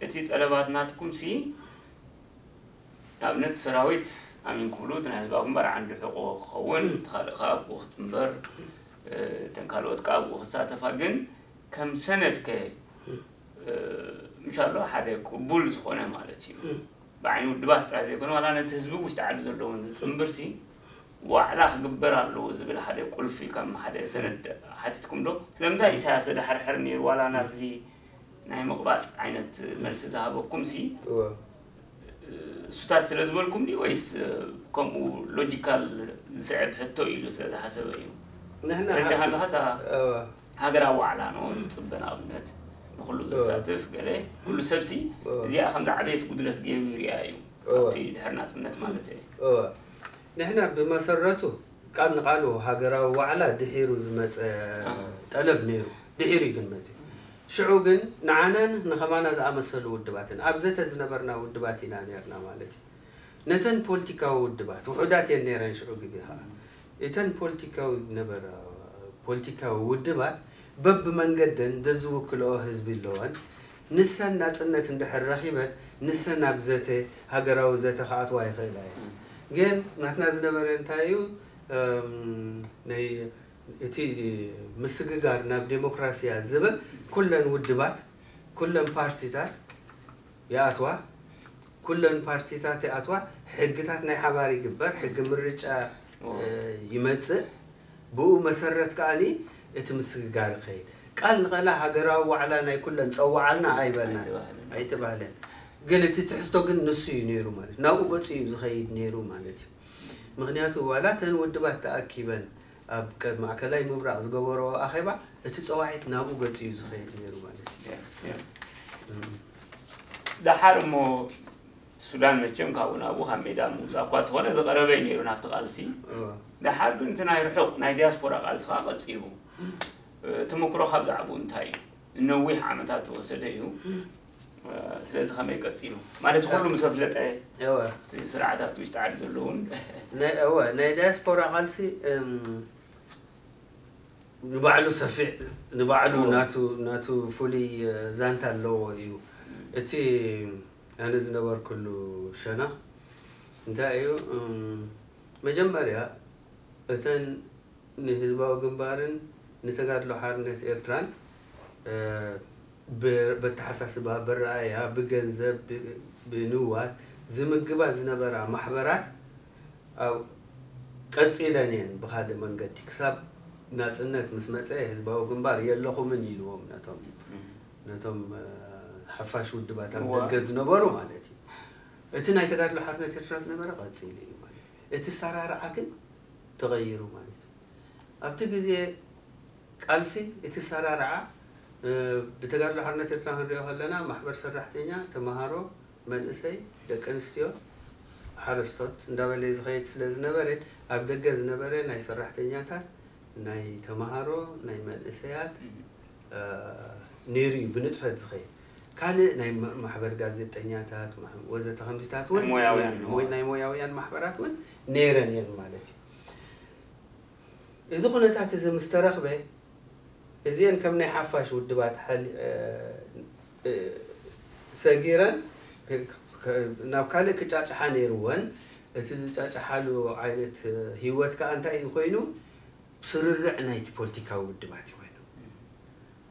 እቲ ጠለባት ናትኩም ሲ ንኣብነት ሰራዊት ኣሚን ክብሉ እቲ ናይ ህዝባዊ ግንባር ዓንዲ ሕቆ ክኸውን፣ እቲ ካልእ ከዓ ኣብኡ ክፅንበር፣ እተን ካልኦት ከዓ ኣብኡ ክሳተፋ፣ ግን ከም ሰነድ ከ ምሻሎ ሓደ ቅቡል ዝኾነ ማለት እዩ። ብዓይኒ ውድባት ጥራይ ዘይኮነ ዋላ ነቲ ህዝቢ ውሽጢ ዓዲ ዘለውን ዝፅንብርሲ ዋዕላ ክግበር ኣለዎ ዝብል ሓደ ቁልፊ ከም ሓደ ሰነድ ሓቲትኩም ዶ? ስለምንታይ ኢሳያስ ዘድሓርሕር ነይሩ ዋላ ናብዚ ናይ ምቕባፅ ዓይነት መልሲ ዝሃበኩም ሲ እሱታት ስለ ዝበልኩም ድዩ ወይስ ከምኡ ሎጂካል ዝስዕብ ሕቶ ኢሉ ስለ ዝሓሰበ እዩ? ንሕና ረዳኻ ኣለኻ እታ እወ። ሃገራዊ ዋዕላ ነው ዝፅበ ንኣብነት ንኩሉ እወ። ዘሳትፍ ገለ ኩሉ ሰብሲ እወ። እዚኣ ከምዚ ዓበየት ጉድለት ገይሩ ይሪኣ እዩ እወ። ኣብቲ ድሕር ናፅነት ማለት እዩ። እወ። ንሕና ብመሰረቱ ቃል ንቃሉ ሃገራዊ ዋዕላ ድሒሩ ዝመፀ ኣሃ። ጠለብ ነይሩ። ድሒሩ እዩ ግን መፂ። ሽዑ ግን ንዓናን ንኸማና ዝኣመሰሉ ውድባትን ኣብ ዘተ ዝነበርና ውድባት ኢና ነርና ማለት እዩ። ነተን ፖለቲካዊ ውድባት ውሑዳት እየን ነይረን ሽዑ ግዜ ከዓ። እተን ፖለቲካዊ ነበረ ፖለቲካዊ ውድባት በብመንገደን ዘዝውክልኦ ህዝቢ ኣለወን። ንሰን ናፅነት እንድሕር ረኺበን ንሰን ኣብ ዘተ ሃገራዊ ዘተ ክኣትዋ ይኽእላ እየን። ግን ናትና ዝነበረ እንታይ እዩ? እም፣ ናይ እቲ ምስግጋር ናብ ዴሞክራሲያ ዝብል ኩለን ውድባት ኩለን ፓርቲታት ይኣትዋ። ኩለን ፓርቲታት ይኣትዋ። ሕግታት ናይ ሓባር ይግበር። ሕጊ ምርጫ ኦ። እ፣ ይመጽእ። ብኡ መሰረት ከኣኒ እቲ ምስግጋር ይኸይድ። ቃል ንቐላ ሃገራዊ ዋዕላ ናይ ኩለን ጸዋዓልና ኣይበልናን። ኣይተባህለን። ኣይተባህለን። ግን እቲ ትሕዝቶ ግን ንሱ እዩ ነይሩ ማለት ናብኡ ገጹ እዩ ዝኸይድ ነይሩ ማለት እዩ። ምክንያቱ ዋላ እተን ውድባት ተኣኪበን ኣብ ቀ- ማእከላይ ምብራቕ ዝገበረኦ ኣኼባ እቲ ጸዋዒት ናብኡ ገጹ እዩ ዝኸይድ ነይሩ ማለት እዩ። ደሓር እሞ ሱዳን መቸም ካብኡ ናብኡ ካብ ሜዳ ምውፃእ እኳ ተኾነ ዝቐረበ እዩ ነይሩ ናብቲ ቃልሲ። እወ። ደሓር ግን እቲ ናይ ርሑቕ ናይ ዲያስፖራ ቃልሲ ከዓ ቀፂሉ። ተመክሮ ካብ ዛዕባኡ እንታይ እዩ? ነዊሕ ዓመታት ዝወሰደ እዩ። ስለዚ ከመይ ቀፂሉ? ማለት ኩሉ ምስ ኣፍለጠ እወ። እቲ ስርዓታት ውሽጢ ዓዲ ዘለውን ናይ እወ ናይ ዳያስፖራ ቃልሲ እም፣ ንባዕሉ ሰፊዕ ንባዕሉ እወ። ናቱ ናቱ ፍሉይ እ፣ ዛንታ ኣለዎ እዩ። እቲ ኣነ ዝነበርኩሉ ሸነኽ እንታይ እዩ እም፣ መጀመርያ እተን ንህዝባዊ ግንባርን ንተጋድሎ ሓርነት ኤርትራን እ፣ ብ- በተሓሳስባ ብረኣያ ብገንዘብ ብ- ብንዋት ዝምግባ ዝነበራ ማሕበራት ኣብ ቀፂለን እየን ብካልእ መንገዲ ክሳብ ናፅነት ምስ መፀ ህዝባዊ ግንባር የለኹምን ኢልዎም ነቶም ነቶም እ፣ ሓፋሽ ውድባት ኣብ እዋ። ደገ ዝነበሩ ማለት እዩ። እቲ ናይ ተጋድሎ ሓርነት ኤርትራ ዝነበረ ቀፂሉ እዩ ማለት እዩ። እቲ ሰራርዓ ግን ተቐይሩ ማለት እዩ። ኣብቲ ግዜ ቃልሲ እቲ ሰራርዓ እ፣ ብተጋድሎ ሓርነት ኤርትራ ክንሪኦ ከለና ማሕበር ሰራሕተኛ፣ ተምሃሮ፣ መንእሰይ፣ ደቂ ኣንስትዮ፣ ሓረስቶት እንዳበለ ዝኸይድ ስለ ዝነበረ ኣብ ደገ ዝነበረ ናይ ሰራሕተኛታት ናይ ተምሃሮ ናይ መንእሰያት እ፣ ነይሩ እዩ ብንጥፈት ዝኸይድ። ካልእ ናይ ማ- ማሕበር ጋዜጠኛታት ማሕ- ወዘተ ከምዚታት እውን ናይ ሞያውያን ወይ ናይ ሞያውያን ማሕበራት እውን ነይረን እየን ማለት እዩ። እዚ ኩነታት እዚ ምስ ተረኽበ እዚአን ከም ናይ ሓፋሽ ውድባት ሓሊ- እ፣ እ፣ ሰጊረን ክ- ክ- ናብ ካልእ ክጫጭሓ ነይርወን። እቲ ዝጫጭሓሉ ዓይነት እ፣ ህይወት ከዓ እንታይ እዩ ኮይኑ? ስርርዕ ናይቲ ፖለቲካዊ ውድባት እዩ ኮይኑ።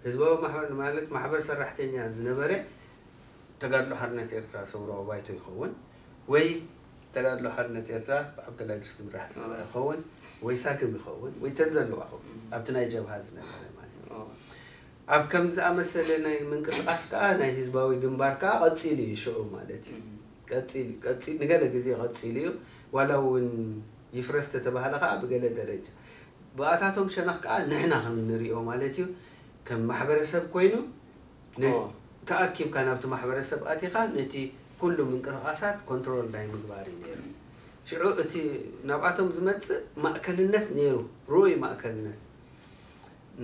ህዝባዊ ማሕበር ማለት ማሕበር ሰራሕተኛ ዝነበረ ተጋድሎ ሓርነት ኤርትራ ሰውራዊ ባይቶ ይኸውን ወይ ተጋድሎ ሓርነት ኤርትራ ብዓብደላ ድርስ ዝምራሕ ዝነበረ ይኸውን ወይ ሳግም ይኸውን ወይ ተን ዘለዋ ኣብቲ ናይ ጀብሃ ዝነበረ ማለት እዩ። ኣብ ከም ዝኣመሰለ ናይ ምንቅስቃስ ከዓ ናይ ህዝባዊ ግንባር ከዓ ቀፂሉ እዩ ሽዑ ማለት እዩ። ቀፂሉ ቀፂሉ ንገለ ግዜ ቀፂሉ እዩ። ዋላ እውን ይፍረስ ተተባህለ ከዓ ብገለ ደረጃ ብኣታቶም ሸነኽ ከዓ ንሕና ከም ንሪኦ ማለት እዩ ከም ማሕበረሰብ ኮይኑ ነ- ኦ። ተኣኪብካ ናብቲ ማሕበረሰብ ኣቲኻ ነቲ ኩሉ ምንቅስቃሳት ኮንትሮል ናይ ምግባር እዩ ነይሩ። ሽዑ እቲ ናብኣቶም ዝመፅእ ማእከልነት ነይሩ፣ ርኡይ ማእከልነት።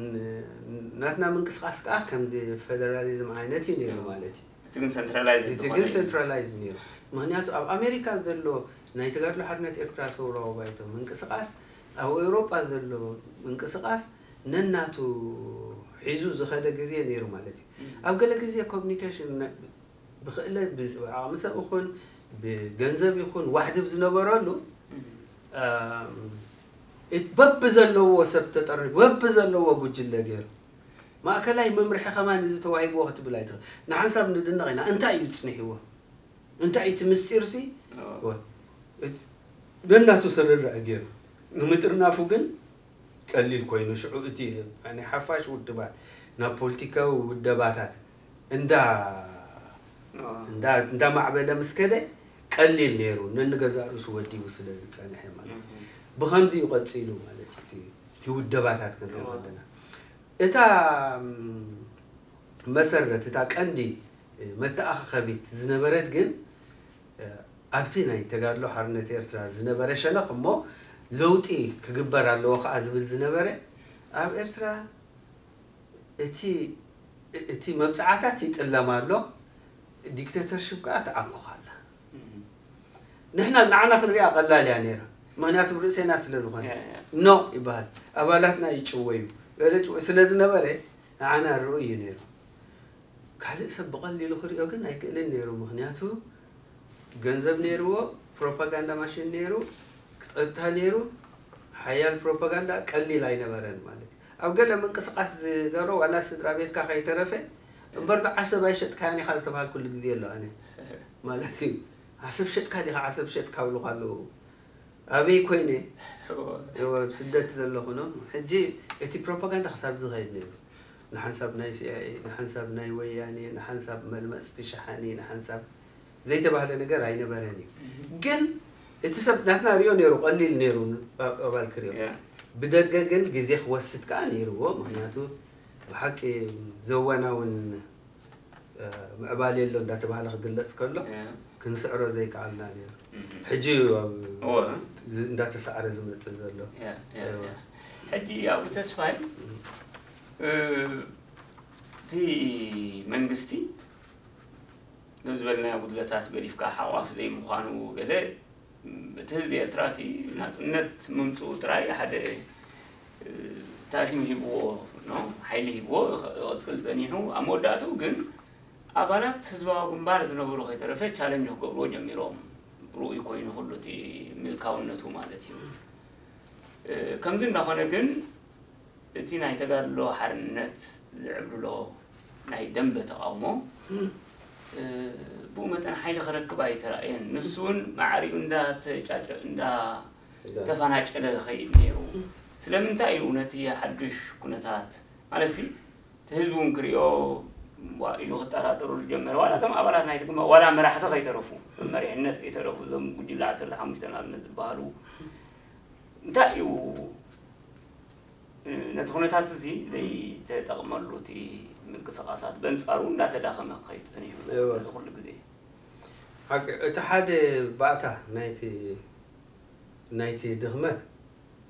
ን- ናትና ምንቅስቃስ ከዓ ከምዚ ፌደራሊዝም ዓይነት እዩ ነይሩ ማለት እዩ። እቲ ግን ሰንትራላይዝ እቲ ግን ሰንትራላይዝ ነይሩ። ምክንያቱ ኣብ ኣሜሪካ ዘሎ ናይ ተጋድሎ ሓርነት ኤርትራ ሰውራዊ ባይቶ ምንቅስቃስ ኣብ ኤውሮጳ ዘሎ ምንቅስቃስ ነናቱ ሒዙ ዝኸደ ግዜ ነይሩ ማለት እዩ። ኣብ ገለ ግዜ ኮሚኒኬሽን ብክእለት ብዓቕሚ ሰብ ይኹን ብገንዘብ ይኹን ዋሕድብ ዝነበረሉ በብዘለዎ ሰብ ተጠሪፉ በብዘለዎ ጉጅለ ገይሩ ማእከላይ መምርሒ ከማን እዚ ተዋሂብዎ ክትብል ኣይትኽእል። ንሓንሳብ ንድነቕ ኢና እንታይ እዩ ፅኒሕዎ እንታይ እቲ ምስጢር ሲ ነናቱ ስርርዕ ገይሩ ንምጥርናፉ ግን ቀሊል ኮይኑ ሽዑ እቲ ናይ ሓፋሽ ውድባት ናብ ፖለቲካዊ ውደባታት እንዳ እንዳ እንዳ ማዕበለ ምስ ከደ ቀሊል ነይሩ ነንገዛእ ርእሱ ወዲቡ ስለ ዝጸንሐ ማለት እዩ። ብኸምዚ እዩ ቀጺሉ ማለት እዩ እቲ ውደባታት ክንሪኦ ከለና እታ መሰረት እታ ቀንዲ መተኣኻኸቢት ዝነበረት ግን ኣብቲ ናይ ተጋድሎ ሓርነት ኤርትራ ዝነበረ ሸነኽ እሞ ለውጢ ክግበር ኣለዎ ከዓ ዝብል ዝነበረ ኣብ ኤርትራ እቲ እቲ መብፅዓታት ይጥለም ኣሎ ዲክተተርሽፕ ከዓ ተዓኩኽ ኣላ ንሕና ንዓና ክንሪኣ ቀላል እያ ነይራ ምክንያቱ ርእሴና ስለ ዝኾነ ኖ ይበሃል ኣባላትና ይጭወዩ ስለ ዝነበረ ንዓና ርኡ እዩ ነይሩ ካልእ ሰብ ብቐሊሉ ክሪኦ ግን ኣይክእልን ነይሩ ምኽንያቱ ገንዘብ ነይርዎ ፕሮፓጋንዳ ማሽን ነይሩ ጸጥታ ነይሩ ሓያል ፕሮፓጋንዳ ቀሊል ኣይነበረን ማለት እዩ ኣብ ገለ ምንቅስቃስ ዝገብሮ ዋላ ስድራ ቤትካ ከይተረፈ እምበር ዶ ዓሰብ ኣይሸጥካያን ኢኻ ዝተባሃልኩሉ ግዜ ኣሎ ኣነ ማለት እዩ ዓሰብ ሸጥካ ዲኻ ዓሰብ ሸጥካ ብሉኻ ኣለዉ ኣበይ ኮይነ ስደት ዘለኹ ኖ ሕጂ እቲ ፕሮፓጋንዳ ክሳብ ዝኸይድ ነይሩ ንሓንሳብ ናይ ሲኣይኤ ንሓንሳብ ናይ ወያኔ ንሓንሳብ መልመፅቲ ሸሓኒ ንሓንሳብ ዘይተባህለ ነገር ኣይነበረን እዩ ግን እቲ ሰብ ናትና ሪኦ ነይሩ ቀሊል ነይሩ ኣባል ክሪኦ ብደገ ግን ግዜ ክወስድ ከዓ ነይርዎ ምክንያቱ ብሓቂ ዘዋናውን ምዕባለ ኣሎ እንዳተባህለ ክግለፅ ከሎ ክንስዕሮ ዘይከኣልና ነይሩ ሕጂ እንዳተሳዕረ ዝመፅእ ዘሎ ሕጂ ኣብኡ ተስፋይ እቲ መንግስቲ ዝበልናዮ ጉድለታት ገዲፍካ ሓቋፍ ዘይምዃኑ ገለ እቲ ህዝቢ ኤርትራ ሲ ናፅነት ምምፅኡ ጥራይ ሓደ ታሽሙ ሂብዎ ሓይሊ ሂብዎ ይቕፅል ፀኒሑ ኣብ መወዳእትኡ ግን ኣባላት ህዝባዊ ግንባር ዝነበሩ ከይተረፈ ቻለንጅ ክገብርዎ ጀሚሮም ርኡይ ኮይኑ ኩሉ እቲ ምልካውነቱ ማለት እዩ ከምዚ እንዳኾነ ግን እቲ ናይ ተጋድሎ ሓርነት ዝዕብልሎ ናይ ደንበ ተቓውሞ ብኡ መጠን ሓይሊ ክረክብ ኣይተራእየን። ንሱ እውን ማዕሪኡ እንዳተፋናጨለ ዝኸይድ ነይሩ። ስለምንታይ እዩ ነቲ ሓዱሽ ኩነታት ማለት ሲ እቲ ህዝቢ እውን ክሪኦ ኢሉ ክጠራጠሩ ዝጀመረ ዋላ እቶም ኣባላት ናይቲ ግንባር ዋላ መራሕቲ ከይተረፉ መሪሕነት ከይተረፉ እዞም ጉጅለ ዓሰርተ ሓሙሽተ ንኣብነት ዝበሃሉ እንታይ እዩ ነቲ ኩነታት እዚ ዘይተጠቕመሉ እቲ ምንቅስቃሳት በንፃሩ እንዳተዳኸመ ክኸይድ ፀኒሑ እዚ ኩሉ ግዜ እቲ ሓደ ባእታ ናይቲ ናይቲ ድኽመት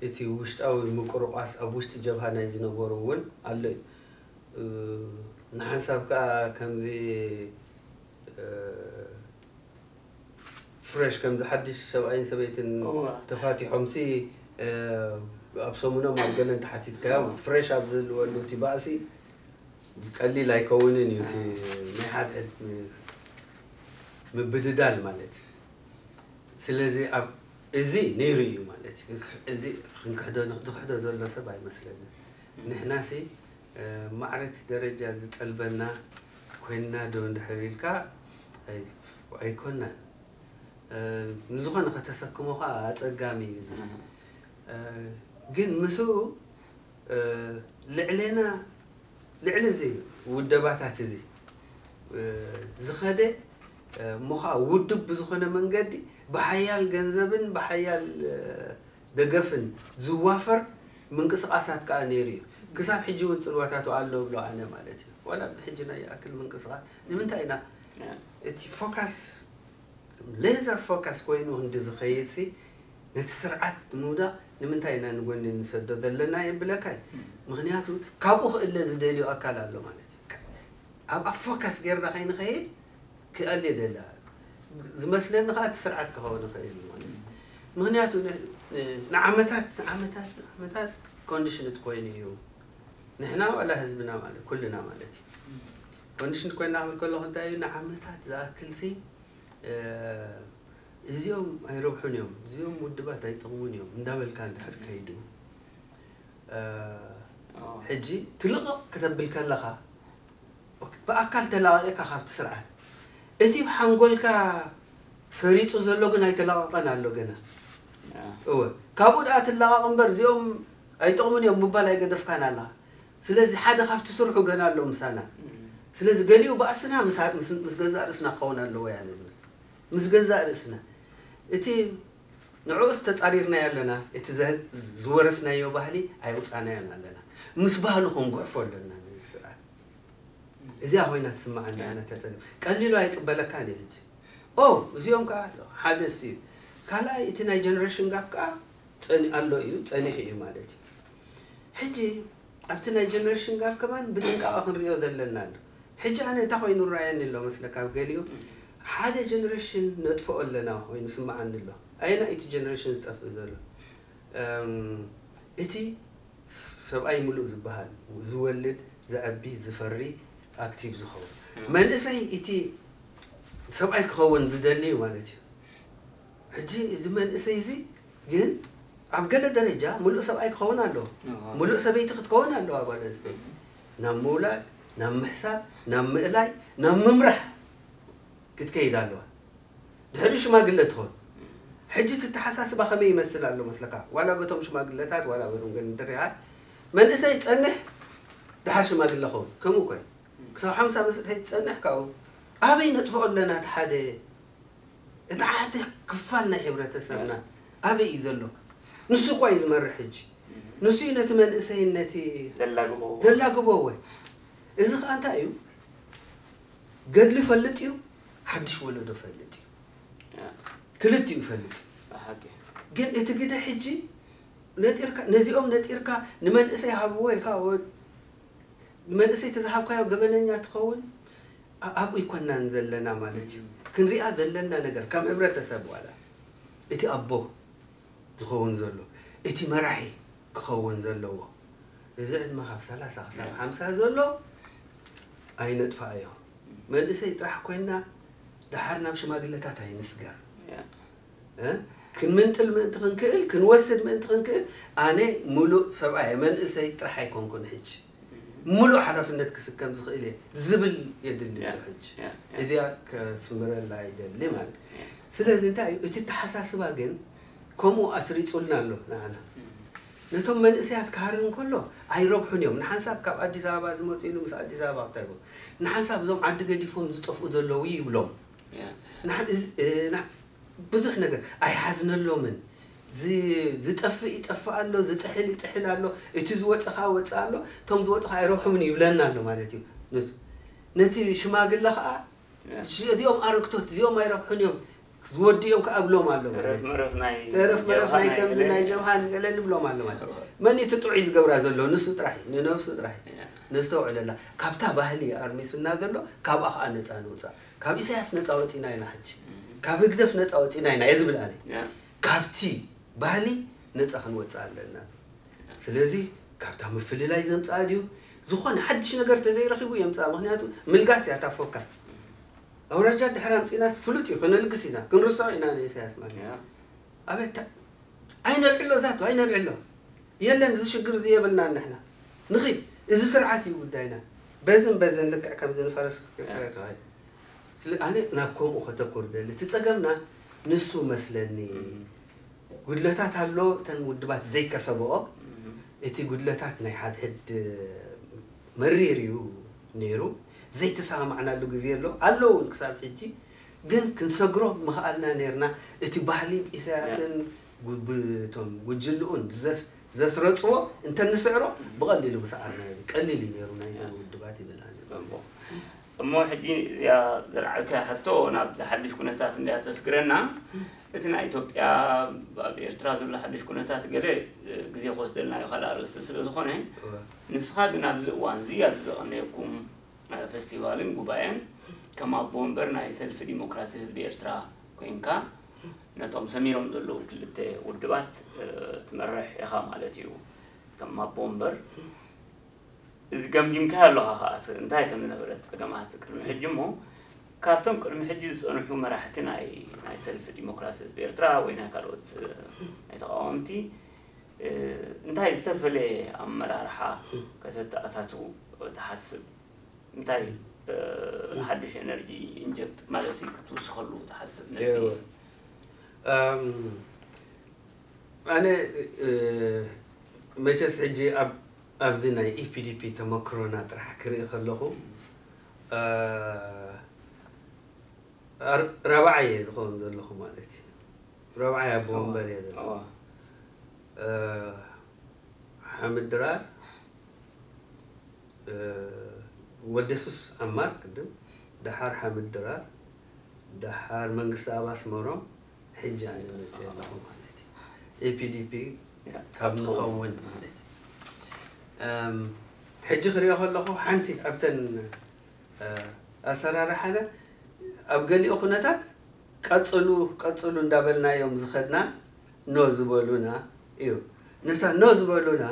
እቲ ውሽጣዊ ምቁርቋስ ኣብ ውሽጢ ጀብሃ ናይ ዝነበሩ እውን ኣሎ እዩ ንሓንሳብ ከዓ ከምዚ ፍሬሽ ከምዚ ሓድሽ ሰብኣይን ሰበይትን ተፋቲሖም ሲ ኣብ ሰሙኖም ኣብ ገለን ተሓቲትካዮም ፍሬሽ ኣብ ዝህልወሉ እቲ ባእሲ ቀሊል ኣይከውንን እዩ እቲ ናይ ሓድሕድ ምብድዳል ማለት እዩ ስለዚ ኣብ እዚ ነይሩ እዩ ማለት እዩ እዚ ክንክሕዶ ዝክሕዶ ዘሎ ሰብ ኣይመስለንን ንሕና ሲ ማዕረ እቲ ደረጃ ዝጠልበና ኮይንና ዶ እንድሕር ኢልካ ኣይኮናን ንዝኾነ ከተሰክሞ ከዓ ኣፀጋሚ እዩ ግን ምስኡ ልዕሌና ልዕሊ እዚ ውደባታት እዚ ዝኸደ እሞ ከዓ ውድብ ብዝኾነ መንገዲ ብሓያል ገንዘብን ብሓያል ደገፍን ዝዋፈር ምንቅስቃሳት ከዓ ነይሩ እዩ ክሳብ ሕጂ እውን ፅልዋታቱ ኣሎ ብሎ ኣነ ማለት እዩ ዋላ ኣብዚ ሕጂ ናይ ይኣክል ምንቅስቃስ ንምንታይ ኢና እቲ ፎካስ ሌዘር ፎካስ ኮይኑ ክንዲ ዝኸይድ ሲ ነቲ ስርዓት ንምውዳቕ ንምንታይ ኢና ንጎኒ ንሰዶ ዘለና የብለካ እዩ ምክንያቱ ካብኡ ክእለ ዝደልዮ ኣካል ኣሎ ማለት እዩ ኣብ ኣብ ፎካስ ጌርና ከይንኸይድ ክኣል የደላ ዝመስለኒ ከዓ እቲ ስርዓት ክኸውን ይኽእል እዩ ማለት እዩ ምክንያቱ ንዓመታት ንዓመታት ንዓመታት ኮንዲሽንት ኮይኑ እዩ ንሕና ዋላ ህዝብና ማለት ኩልና ማለት እዩ ኮንዲሽን ኮይና ክብል ከለኹ እንታይ እዩ፣ ንዓመታት ዝኣክል ሲ፣ እ፣ እዚኦም ኣይረብሑን እዮም፣ እዚኦም ውድባት ኣይጠቕሙን እዮም እንዳበልካ እንድሕር ከይዱ፣ እ፣ ሕጂ ትልቕቕ ክተብል ከለኻ፣ ኦኬ፣ ብኣካል ተላቒቕካ ካብቲ ስርዓት፣ እቲ ብሓንጎልካ ሰሪጹ ዘሎ ግን ኣይተላቐቐን ኣሎ ገና። እወ፣ ካብኡ ደኣ ትላቐቕ እምበር እዚኦም ኣይጠቕሙን እዮም ምባል ኣይገደፍካን ኣለኻ። ስለዚ ሓደ ካብቲ ስርሑ ገና ኣሎ ምሳና። ስለዚ ገሊኡ ባእስና ምስ ምስ ገዛእ ርእስና ክኸውን ኣለዎ እያ ንብል። ምስ ገዛእ ርእስና። እቲ ንዕኡስ ተጻሪርናዮ ኣለና፣ እቲ ዘ ዝወረስናዮ ባህሊ ኣየውጻእናዮን ኣለና። ምስ ባህሉ ክንጉሕፎ ኣለና ነዚ ስርዓት። እዚኣ ኮይና ትስምዓኒ ኣነ እታ ጸገም። ቀሊሉ ኣይቅበለካን እዩ ሕጂ። ኦ፣ እዚኦም ከኣ ሓደ እሱ እዩ። ካልኣይ እቲ ናይ ጀነሬሽን ጋፕ ከኣ ጸኒ ኣሎ እዩ፣ ጸኒሑ እዩ ማለት እዩ። ሕጂ ኣብቲ ናይ ጀነሬሽን ጋፕ ከማን ብጥንቃቐ ክንሪኦ ዘለና ኣሎ። ሕጂ ኣነ እንታይ ኮይኑ ይረኣየኒ ኣሎ መስለካ ኣብ ገሊኡ? ሓደ ጀነሬሽን ነጥፍኦ ኣለና ኮይኑ ይስምዓኒ ኣሎ። ኣየናይ እቲ ጀነሬሽን ዝጠፍእ ዘሎ? እም፣ እቲ ሰብኣይ ምሉእ ዝበሃል ዝወልድ፣ ዘዕቢ፣ ዝፈሪ፣ ኣክቲቭ ዝኸውን። መንእሰይ እቲ ሰብኣይ ክኸውን ዝደሊ እዩ ማለት እዩ። ሕጂ እዚ መንእሰይ እዚ ግን ኣብ ገለ ደረጃ ምሉእ ሰብኣይ ክኸውን ኣለዎ። ምሉእ ሰበይቲ ክትከውን ኣለዋ ጓል ኣንስተይቲ። ናብ ምውላድ፣ ናብ ምሕሳብ፣ ናብ ምእላይ፣ ናብ ምምራሕ ክትከይድ ኣለዋ። ድሕሪ ሽማግለ ትኾን። ሕጂ እቲ ኣተሓሳስባ ከመይ ይመስል ኣሎ መስለካ? ዋላ በቶም ሽማግለታት፣ ዋላ በቶም ገለ እንተሪኻ፣ መንእሰይ ጸንሕ፣ ደሓር ሽማግለ ኸውን። ከምኡ እኮ እዩ። ክሳብ ሓምሳ ምስ እተይ ትጸንሕ ካብኡ ኣበይ ነጥፍኦ ኣለና? እቲ ሓደ፣ እቲ ሓደ ክፋል ናይ ሕብረተሰብና ኣበይ እዩ ዘሎ? ንሱ እኳ እዩ ዝመርሕ ሕጂ። ንሱ እዩ ነቲ መንእሰይን ነቲ ዘላግቦ። ዘላግቦ ወይ። እዚ ኸኣ እንታይ እዩ? ገድሊ ፈልጥ እዩ፣ ሓድሽ ወለዶ ፈልጥ እዩ። ያ። ክልቲኡ ይፈልጥ። ብሓቂ። ግን እቲ ግደ ሕጂ ነጢርካ፣ ነዚኦም ነጢርካ ንመንእሰይ ሃብዎ ኢልካ፣ ወ-፣ ንመንእሰይ ተዝሃብካዮ ገበነኛ ትኸውን፣ ኣ-፣ ኣብኡ ይኮናን ዘለና ማለት እዩ። ክንሪኣ ዘለና ነገር ከም ሕብረተሰብ ዋላ እቲ ኣቦ ዝኸውን ዘሎ፣ እቲ መራሒ ክኸውን ዘለዎ፣ እዚ ዕድመ ካብ ሰላሳ ክሳብ ሓምሳ ዘሎ ኣይነጥፋኣዮ። መንእሰይ ጥራሕ ኮይና ደሓር ናብ ሽማግለታት ኣይንስገር። ያ። እ? ክንምንጥል ምእንቲ ክንክእል፣ ክንወስድ ምእንቲ ክንክእል፣ ኣነ ሙሉእ ሰብኣይ፣ መንእሰይ ጥራሕ ኣይኮንኩን ሕጂ። ሙሉእ ሓላፍነት ክስከም ዝኽእል እየ ዝብል የድሊ ያ። ኣሎ ሕጂ። ያ፣ ያ። እዚኣ ከስምረላ ይደሊ ማለት እዩ። ያ። ስለዚ እንታይ እዩ? እቲ ተሓሳስባ ግን ከምኡ ኣስሪጹልና ኣሎ ንዓና። ነቶም መንእሰያት ክሃርም ከሎ ኣይረብሑን እዮም። ንሓንሳብ ካብ ኣዲስ ኣበባ ዝመጹ ኢሉ ምስ ኣዲስ ኣበባ ክታይቦ። ንሓንሳብ እዞም ዓዲ ገዲፎም ዝጠፍኡ ዘለዉ ይብሎም። ያ። ንሓን-፣ እዚ፣ እ፣ ና-፣ ብዙሕ ነገር ኣይሓዝነሎምን። ዝ-፣ ዝጠፍእ ይጠፍእ ኣሎ፣ ዝጥሕል ይጥሕል ኣሎ፣ እቲ ዝወጸ ኸኣ ወጸ ኣሎ፣ እቶም ዝወጹ ኸኣ ኣይረብሑምን ይብለና ኣሎ ማለት እዩ። ነቲ፣ ነቲ ሽማግለ ኸኣ፣ ያ። ሽ-፣ እዚኦም ኣረግቶት፣ እዚኦም ኣይረብሑን እዮም፣ ዝወዱ እዮም ከኣ እብሎም ኣሎ ማለት ተረፍ እዩ። መረፍ ናይ ተረፍ መረፍ ጀብሃ ናይ ናይ ከምዚ ገለ። ናይ ጀብሃ ንገለ ንብሎም ኣሎ ማለት እዩ። እወ። መን እዩ እቲ ጥዑይ ዝገብራ ዘሎ? ንሱ ጥራሕ እዩ፣ ንነብሱ ጥራሕ እዩ። ያ። ነስተውዕለላ። ካብታ ባህሊ ኣርሚሱና ዘሎ፣ ካብኣ ኸኣ ነጻ ንውጻእ። ካብ ኢሳያስ ነጻ ወጺና ኢና ሕጂ። ካብ ህግደፍ ነጻ ወጺና ኢና እየ ዝብል ኣነ። ያ። ካብቲ ባህሊ ነጻ ክንወጽእ ኣለና። ስለዚ ካብታ ምፍልላይ ዘምጽኣ ድዩ? ዝኾነ ሓድሽ ነገር ተዘይረኺቡ የምጽኣ። ምኽንያቱ ምልጋስ እያ እታ ፎካስ። ኣውራጃ ድሕሪ ኣምጺእናስ ፍሉጥ እዩ፣ ከነልግስ ኢና፣ ክንርስዖ ኢና ንኢሳያስ ማለት እዩ። ያ። ኣቤት ታ-፣ ኣይነልዕሎ ዛቱ፣ ኣይነልዕሎ። የለን፣ እዚ ሽግር እዚ የብልናን ንሕና። ንኺድ፣ እዚ ስርዓት እዩ ጉዳይና። በዝን በዝን ልክዕ ከምዚ ንፈረስ ያ። ክኸይድ። ስለ-፣ ኣነ ናብ ከምኡ ከተኩር ደሊ። እቲ ጸገምና ንሱ መስለኒ። እም። ጉድለታት ኣሎ፣ እተን ውድባት ዘይከሰብኦ፣ እም። እቲ ጉድለታት ናይ ሓድሕድ መሪር እዩ ነይሩ። ዘይተሰማማዕናሉ ግዜ ኣሎ፣ ኣሎ እውን ክሳብ ሕጂ። ግን ክንሰግሮ ምኽኣልና ነይርና። እቲ ባህሊ ኢሳያስን ያ። ጉ-፣ ብ-፣ እቶም ጉጅልኡን ዘስ-፣ ዘስረጽዎ እንተንስዕሮ ብቐሊሉ ምሰዓርና እዩ። ቀሊል እዩ ነይሩ ናይተን ያ። ውድባት ይብል ኣነ። ጽቡቕ። እሞ ሕጂ እዚኣ ዘልዓልካያ ሕቶ ናብዚ ሓድሽ ኩነታት እንድያ ተስግረና። እቲ ናይ ኢትዮጵያ ኣብ ኤርትራ ዘሎ ሓድሽ ኩነታት ገለ ግዜ ክወስደልና እዩ፣ ካልእ ኣርእስቲ ስለ ዝኾነ። እወ። ንስኻ ግን ኣብዚ እዋን እዚ ኣብዚ ዘቐነየኩም ፈስቲቫልን ጉባኤን ከም ኣቦ ወንበር ናይ ሰልፊ ዲሞክራሲ ህዝቢ ኤርትራ ኮይንካ ነቶም ሰሚሮም ዘለዉ ክልተ ውድባት፣ እ፣ ትመርሕ ኢኻ ማለት እዩ። ከም ኣቦ ወንበር እዚ ገምጊምካዮ ኣለኻ ከኣ፣ እቲ እንታይ ከም ዝነበረ፣ እቲ ጸገማት ቅድሚ ሕጂ እሞ፣ ካብቶም ቅድሚ ሕጂ ዝጸንሑ መራሕቲ ናይ፣ ናይ ሰልፊ ዲሞክራሲ ህዝቢ ኤርትራ ወይ ናይ ካልኦት፣ እ፣ ናይ ተቃወምቲ፣ እ፣ እንታይ ዝተፈለየ ኣመራርሓ ከተተኣታትዉ ትሓስብ? እንታይ፣ እ፣ ሓድሽ ኤነርጂ ኢንጀክት ማለት እዩ ክትውስኸሉ ትሓስብ? ነቲ እወ። ኣም፣ ኣነ፣ እ፣ መቸስ ሕጂ ኣብ፣ ኣብዚ ናይ ኢፒዲፒ ተመክሮና ጥራሕ ክርኢ ከለኹ፣ እ፣ ኣር-፣ ራብዓይ እየ ዝኸውን ዘለኹ ማለት እዩ። ራብዓይ ኣቦ እወ። ወንበር እየ ዘለኹ። እወ። እ፣ ሓምድ ድራር፣ እ፣ ወልደሱስ ዓማር ቅድም፣ ደሓር ሓምድ ድራር፣ ደሓር መንግስቲ ኣብ ኣስመሮም፣ ሕጂ ኣነ መፅእ ኣለኹ ማለት እዩ። ኤፒዲፒ ያ፣ ካብ ንኸውን ማለት እዩ። እም፣ ሕጂ ክሪኦ ከለኹ ሓንቲ ኣብተን፣ እ፣ ኣሰራርሓና ኣብ ገሊኡ ኩነታት ቀፅሉ፣ ቀፅሉ እንዳበልናዮም ዝኸድና ኖ ዝበሉና እዩ። ነታ ኖ ዝበሉና፣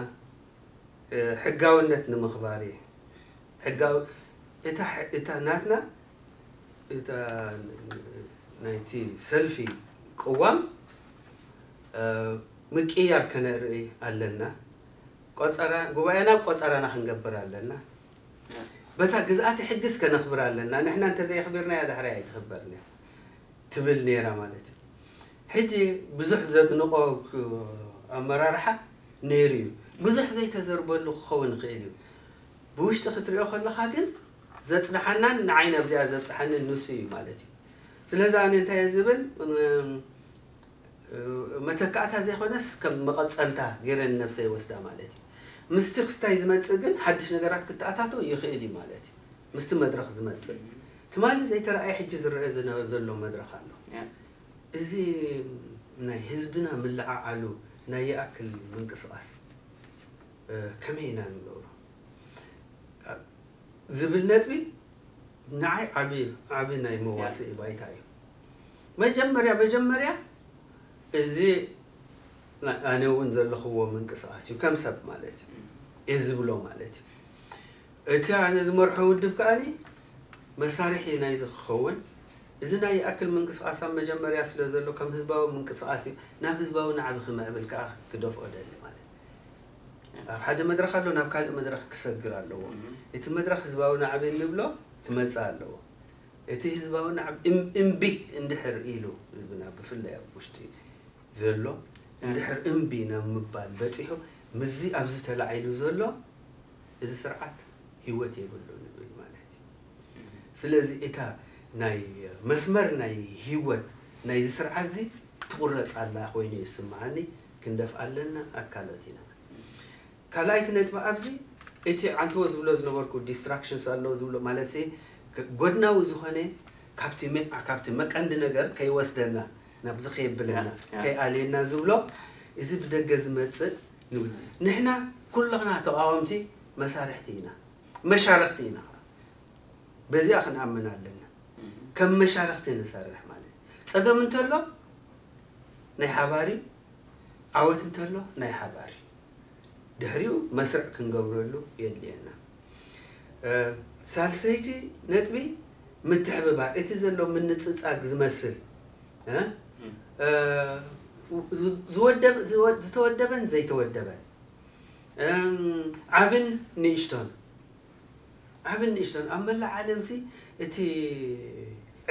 እ፣ ሕጋውነት ንምኽባር እዩ። ሕጋው-፣ እታ ሕ-፣ እታ ናትና፣ እታ ናይቲ ሰልፊ ቅዋም፣ እ፣ ምቅያር ከነርኢ ኣለና። ቆጸራ፣ ጉባኤና ኣብ ቆጸራና ክንገብር ኣለና። በታ ግዝኣተ ሕግስ ከነኽብር ኣለና። ንሕና እንተዘየኽቢርናያ ዳሕራይ ኣይትኽበርን እያ ትብል ነይራ ማለት እዩ። ሕጂ ብዙሕ ዘድንቆ ክ-፣ ኣመራርሓ ነይሩ እዩ። ብዙሕ ዘይተዘርበሉ ክኸውን ይኽእል እዩ። ብውሽጢ ክትሪኦ ከለኻ ግን ዘጽንሓናን ንዓይ ናብዚኣ ዘብጽሓንን ንሱ እዩ ማለት እዩ። ስለዚ ኣነ እንታይ እየ ዝብል፣ እም፣ መተካእታ ዘይኮነስ ከም መቐጸልታ ገይረ ንነብሰይ ይወስዳ ማለት እዩ። ምስቲ ክስታይ ዝመጽእ ግን ሓድሽ ነገራት ክተኣታቶ ይኽእል እዩ ማለት እዩ። ምስቲ መድረኽ ዝመጽእ። ትማሊ ዘይተረኣየ ሕጂ ዝረአ ዝነ-፣ ዘሎ መድረኽ ኣሎ። ያ። እዚ ናይ ህዝብና ምልዓዓሉ ናይ ይኣክል ምንቅስቓስ፣ እ፣ ከመይ ኢና ንገብሮ? ዝብል ነጥቢ ንዓይ ዓቢ፣ ዓቢ ናይ መዋስኢ ባይታ እዩ። መጀመርያ፣ መጀመርያ እዚ ና-፣ ኣነ እውን ዘለኽዎ ምንቅስቓስ እዩ፣ ከም ሰብ ማለት እዩ። እየ ዝብሎ ማለት እዩ። እቲ ኣነ ዝመርሖ ውድብ ከኣኒ መሳርሒ ናይዚ ክኸውን፣ እዚ ናይ ይኣክል ምንቅስቓስ ኣብ መጀመርያ ስለ ዘሎ፣ ከም ህዝባዊ ምንቅስቓስ እዩ፣ ናብ ህዝባዊ ናዕቢ ክምዕብል ከኣ ክደፍኦ ደሊ ማለት እዩ። ኣብ ሓደ መድረኽ ኣሎ፣ ናብ ካልእ መድረኽ ክሰግር ኣለዎ። እህ። እቲ መድረኽ ህዝባዊ ናዕቢ እንብሎ ክመጽእ ኣለዎ። እቲ ህዝባዊ ናዕቢ እም-፣ እምቢ እንድሕር ኢሉ፣ ህዝብና ብፍላይ ኣብ ውሽጢ ዘሎ፣ ያ። እንድሕር እምቢ ናብ ምባል በጺሑ፣ ምስዚ ኣብዚ ተላዒሉ ዘሎ፣ እዚ ስርዓት ህይወት የብሉን ንብል ማለት እዩ። እህ። ስለዚ እታ ናይ መስመር ናይ ህይወት ናይዚ ስርዓት እዚ ትቑረጽ ኣላ ኮይኑ ይስምዓኒ፣ ክንደፍኣ ኣለና፣ ኣካሎት ኢና። ካልኣይቲ ነጥቢ ኣብዚ፣ እቲ ዓንተዎ ዝብሎ ዝነበርኩ ዲስትራክሽንስ ኣሎ ዝብሎ፣ ማለት ሲ፣ ከ-፣ ጎድናዊ ዝኾነ ካብቲ መ-፣ ካብቲ መቀንዲ ነገር ከይወስደና፣ ናብዚ ከየብለና፣ ያ፣ ያ። ከይኣልየና ዝብሎ፣ እዚ ብደገ ዝመጽእ ንብል። ንሕና ኩልኽና ተቃወምቲ መሳርሕቲ ኢና፣ መሻርኽቲ ኢና። በዚኣ ክንኣምን ኣለና። እም። ከም መሻርኽቲ ንሰርሕ ማለት እዩ። ጸገም እንተሎ ናይ ሓባር እዩ፣ ዓወት እንተሎ ናይ ሓባር እዩ። ድሕሪኡ መስርዕ ክንገብረሉ የድልየና። እ፣ ሳልሰይቲ ነጥቢ ምትሕብባር፣ እቲ ዘሎ ምንጽጻግ ዝመስል፣ እ፣ እም። እ፣ ዝወደብ-፣ ዝወ-፣ ዝተወደበን ዘይተወደበን፣ እም፣ ዓብን ንእሽቶን፣ ዓብን ንእሽቶን ኣብ መላእ ዓለምሲ እቲ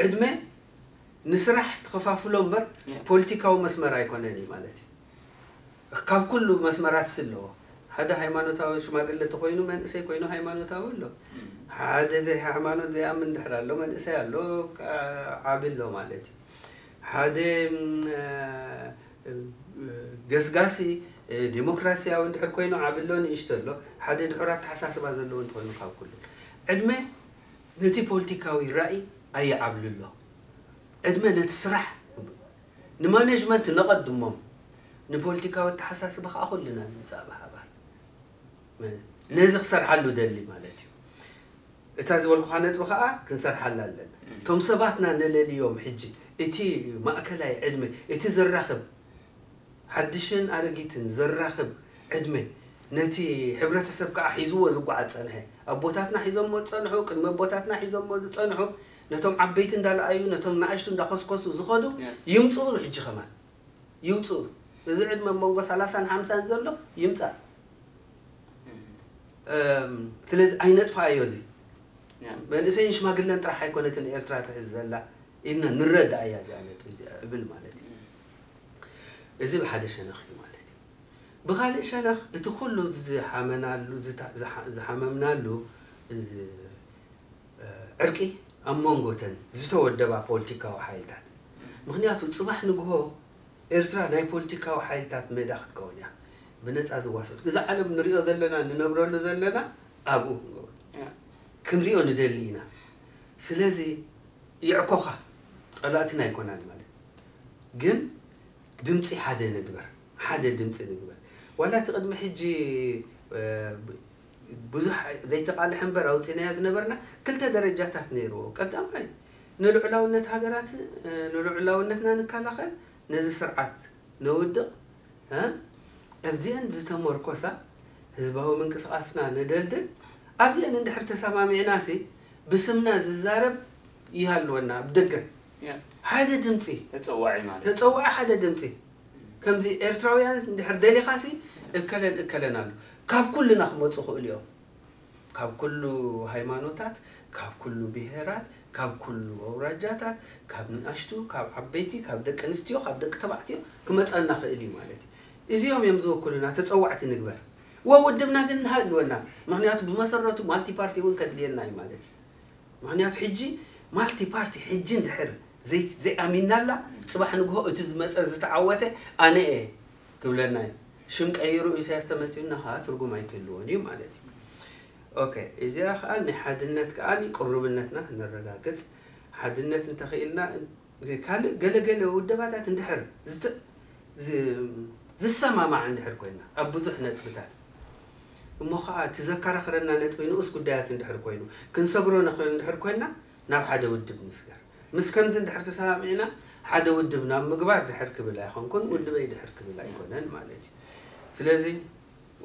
ዕድመ ንስራሕ ትኸፋፍሎ እምበር ያ። ፖለቲካዊ መስመር ኣይኮነን እዩ ማለት እዩ። ካብ ኩሉ መስመራት ኣለዎ። ሓደ ሃይማኖታዊ ሽማግለ ተኮይኑ መንእሰይ ኮይኑ ሃይማኖታዊ ኣሎ። እም። ሓደ ዘይ ሃይማኖት ዘይኣምን ድሕር ኣሎ፣ መንእሰይ ኣሎ፣ ዓ-፣ ዓቢ ኣሎ ማለት እዩ። ሓደ፣ እም፣ እ፣ ገስጋሲ፣ እ፣ ዴሞክራሲያዊ እንድሕር ኮይኑ ዓቢ ኣሎ፣ ንእሽቶ ኣሎ። ሓደ ድሑር ኣተሓሳስባ ዘለዎ እንተኾይኑ ካብ ኩሉ። ዕድመ ነቲ ፖለቲካዊ ራእይ ኣይዓብልሎ። ዕድመ ነቲ ስራሕ፣ ንማኔጅመንት ነቐድሞም፣ ንፖለቲካዊ ኣተሓሳስባ ከዓ ኩልና ንምጻእ ብሓባር። ነዚ ክሰርሓሉ ደሊ ማለት እዩ። እታ ዝበልኩኻ ነጥቢ ከዓ ክንሰርሓላ ኣለና። እም። እቶም ሰባትና ነለልዮም ሕጂ፣ እቲ ማእከላይ ዕድመ፣ እቲ ዘራኽብ፣ ሓድሽን ኣረጊትን ዘራኽብ ዕድመ፣ ነቲ ሕብረተሰብ ከዓ ሒዝዎ ዝጓዓዝ ጸንሐ። ኣቦታትና ሒዞሞ ዝጸንሑ፣ ቅድሚ ኣቦታትና ሒዞሞ ዝጸንሑ፣ ነቶም ዓበይቲ እንዳለኣዩ፣ ነቶም ንኣሽቱ እንዳኸስከሱ ዝኸዱ ይምጽኡ። ሕጂ ከማን ይውጽኡ። እዚ ዕድመ መንጎ ሰላሳን ሓምሳን ዘሎ ይምጻእ። ስለዚ ኣይነጥፋዮ። እዚ መንእሰይን ሽማግለን ጥራሕ ኣይኮነትን ኤርትራ ትሕዝ ዘላ ኢልና ንረዳእ እያ እዚኣ ነጥቢ እዚኣ እብል ማለት እዩ። እዚ ብሓደ ሸነኽ እዩ ማለት እዩ። ብኻልእ ሸነኽ እቲ ኩሉ ዝሓመናሉ ዝሓመምናሉ እዚ ዕርቂ ኣብ መንጎተን ዝተወደባ ፖለቲካዊ ሓይልታት፣ ምክንያቱ ጽባሕ ንግሆ ኤርትራ ናይ ፖለቲካዊ ሓይልታት ሜዳ ክትከውን እያ። ብነጻ ዝዋሰድ እዚ ዓለም ንሪኦ ዘለና ንነብረሉ ዘለና ኣብኡ ክንገብሮ ክንሪኦ ንደሊ ኢና። ስለዚ ይዕኮኻ ጸላእትና ኣይኮናን ማለት ግን ድምፂ ሓደ ንግበር፣ ሓደ ድምፂ ንግበር። ዋላ እቲ ቅድሚ ሕጂ ብዙሕ ዘይተቃልሐ እምበር ኣውፂናዮ ዝነበርና ክልተ ደረጃታት ነይርዎ። ቀዳማይ ንልዑላውነት ሃገራት ንልዑላውነትና ንከላኸል፣ ነዚ ስርዓት ነውድቕ፣ ኣብዚአን ዝተመርኮሳ ህዝባዊ ምንቅስቃስና ነደልድል። ኣብዚአን እንድሕር ተሰማሚዕናሲ ብስምና ዝዛረብ ይሃልወና ብደገ ሓደ ድምፂ ተፀዋዒ ማለት ተፀዋዒ ሓደ ድምፂ ከምዚ ኤርትራውያን እንድሕር ደሊኻሲ እከለን እከለን ኣሎ ካብ ኩልና ክመፁ ክእሉ እዮም ካብ ኩሉ ሃይማኖታት ካብ ኩሉ ብሄራት ካብ ኩሉ ኣውራጃታት ካብ ንኣሽቱ ካብ ዓበይቲ ካብ ደቂ ኣንስትዮ ካብ ደቂ ተባዕትዮ ክመፀና ክእል እዩ ማለት እዩ እዚኦም እዮም ዝወክሉና ተፀዋዕቲ ንግበር ወውድብና ግን ንሃልወና ምክንያቱ ብመሰረቱ ማልቲ ፓርቲ እውን ከድልየና እዩ ማለት እዩ ምኽንያቱ ሕጂ ማልቲ ፓርቲ ሕጂ እንድሕር ዘይኣሚንናላ ፅባሕ ንግሆ እቲ ዝመፀ ዝተዓወተ ኣነ እየ ክብለና እዩ ሽም ቀይሩ ኢሳያስ ተመፂኡና ከዓ ትርጉም ኣይክህልዎን እዩ ማለት እዩ ኦኬ እዚኣ ከዓ ናይ ሓድነት ከዓ ቅሩብነትና ነረጋግፅ ሓድነት እንተኽኢልና ካልእ ገለገለ ውደባታት እንድሕር ዝሰማማዕ እንድሕር ኮይና ኣብ ብዙሕ ነጥብታት እሞ ከዓ እቲ ዘከራኽረና ነጥቢ ንኡስ ጉዳያት እንድሕር ኮይኑ ክንሰግሮ ንኽእል እንድሕር ኮይና ናብ ሓደ ውድብ ንስገር ምስ ከምዚ እንድሕር ተሰማሚዕና ሓደ ውድብ ናብ ምግባር ድሕር ክብል ኣይኾንኩን ውድበይ ድሕር ክብል ኣይኮነን ማለት እዩ ስለዚ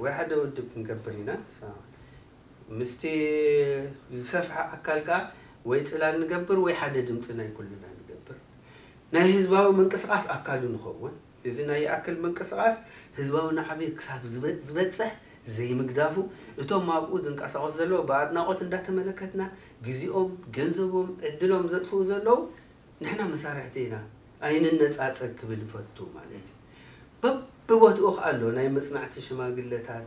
ወይ ሓደ ውድብ ክንገብር ኢና ምስቲ ዝሰፍሐ ኣካል ከዓ ወይ ፅላል ንገብር ወይ ሓደ ድምፂ ናይ ኩልና ንገብር ናይ ህዝባዊ ምንቅስቃስ ኣካሉ ንኸውን እዚ ናይ ይኣክል ምንቅስቃስ ህዝባዊ ናዕቤት ክሳብ ዝበፅሕ ዘይምግዳፉ እቶም ኣብኡ ዝንቀሳቀሱ ዘለዉ ብኣድናቆት እንዳተመለከትና ግዜኦም ገንዘቦም ዕድሎም ዘጥፍኡ ዘለዉ ንሕና መሳርሕቲ ኢና ኣይንነፃፀግ ክብል ይፈቱ ማለት እዩ በብቦትኡ ከዓ ኣሎ ናይ መፅናዕቲ ሽማግለታት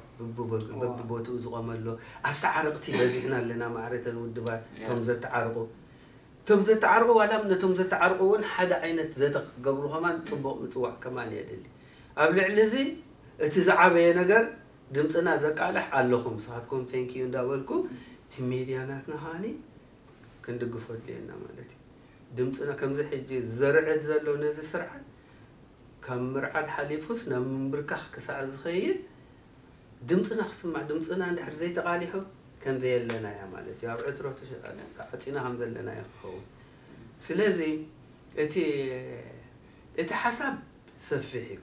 በብቦትኡ ዝቆመ ኣሎ ኣተዓረቅቲ በዚሕና ኣለና ማዕረተን ውድባት እቶም ዘተዓርቁ እቶም ዘተዓርቁ ዋላ ነቶም ዘተዓርቁ እውን ሓደ ዓይነት ዘተ ክገብሩ ከማን ፅቡቅ ምፅዋዕ ከማን የድሊ ኣብ ልዕሊ እዚ እቲ ዝዓበየ ነገር ድምፅና ዘቃልሕ ኣለኹም ንስኻትኩም ቴንኪዩ እንዳበልኩ እቲ ሜድያ ናትና ከዓኒ ክንድግፎ ድልየና ማለት እዩ ድምፅና ከምዚ ሕጂ ዘርዕድ ዘሎ ነዚ ስርዓት ካብ ምርዓድ ሓሊፉስ ናብ ምንብርካኽ ክሳዕ ዝኸይድ ድምፅና ክስማዕ ድምፅና እንድሕር ዘይተቃሊሑ ከም ዘየለና እያ ማለት እዩ ኣብ ዕትሮ ተሸጣለ ዓፂና ከም ዘለና እያ ክኸውን ስለዚ እቲ እቲ ሓሳብ ሰፊሕ እዩ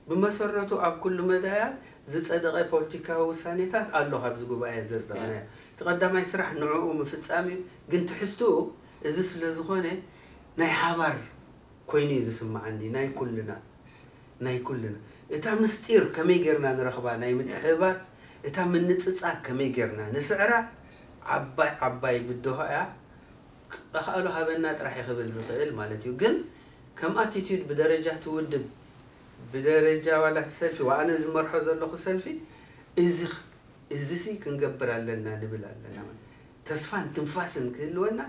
ብመሰረቱ ኣብ ኩሉ መዳያት ዝፀደቐ ፖለቲካዊ ውሳኔታት ኣሎ ካብዚ ጉባኤ ዘፅደቕናዮ እቲ ቀዳማይ ስራሕ ንዕኡ ምፍፃም እዩ ግን ትሕዝትኡ እዚ ስለ ዝኾነ ናይ ሓባር ኮይኑ እዩ ዝስምዓኒ ናይ ኩልና ናይ ኩልና እታ ምስጢር ከመይ ጌርና ንረኽባ ናይ ምትሕብባር እታ ምንጽጻግ ከመይ ጌርና ንስዕራ ዓባይ ዓባይ ብድሆ እያ ክኣሉ ሃበና ጥራሕ ክብል ዝኽእል ማለት እዩ ግን ከም ኣቲቲዩድ ብደረጃ ትውድብ ብደረጃ ዋላት ሰልፊ ወኣነ ዝመርሖ ዘለኹ ሰልፊ እዚ እዚሲ ክንገብር ኣለና ንብል ኣለና ተስፋን ትንፋስን ክህልወና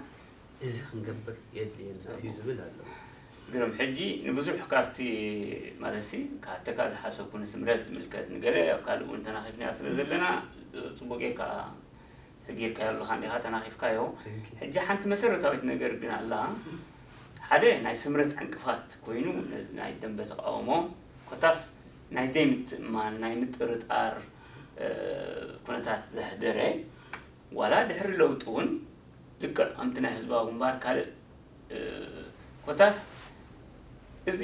እዚ ክንገብር የድልየና እዩ ዝብል ኣሎ ግርም ሕጂ ንብዙሕ ካብቲ ማለት ሲ ካተካ ዝሓሰብኩ ንስምረት ዝምልከት ንገለ ኣብ ካልእ እውን ተናኺፍናዮ ስለ ዘለና ፅቡቅ ጌርካ ሰጊርካዮ ኣለካ እንዲካ ተናኺፍካዮ ሕጂ ሓንቲ መሰረታዊት ነገር ግን ኣላ ሓደ ናይ ስምረት ዕንቅፋት ኮይኑ ናይ ደንበ ተቃውሞ ኮታስ ናይ ዘይምትእማን ናይ ምጥርጣር ኩነታት ዘሕደረ ዋላ ድሕሪ ለውጢ እውን ልክዕ ከምቲ ናይ ህዝባዊ ግንባር ካልእ ኮታስ እዚ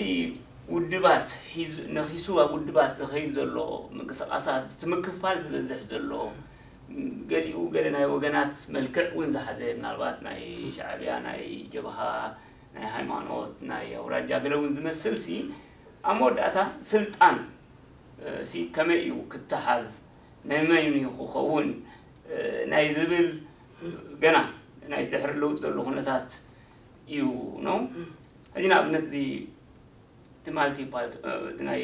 ውድባት ሒዙ ነኺሱ ኣብ ውድባት ዝኸይድ ዘሎ ምንቅስቓሳት፣ እቲ ምክፋል ዝበዝሕ ዘሎ፣ ገሊኡ ገለ ናይ ወገናት መልክዕ እውን ዝሓዘ፣ ምናልባት ናይ ሻዕብያ፣ ናይ ጀብሃ፣ ናይ ሃይማኖት፣ ናይ ኣውራጃ ገለ እውን ዝመስል ሲ፣ ኣብ መወዳእታ ስልጣን ሲ ከመይ እዩ ክተሓዝ፣ ናይ መን እዩ ክኸውን ናይ ዝብል ገና ናይ ድሕሪ ለውጢ ዘሎ ኩነታት እዩ ነው። ሕጂ ንኣብነት እዚ እቲ ማልቲ ፓርቲ ናይ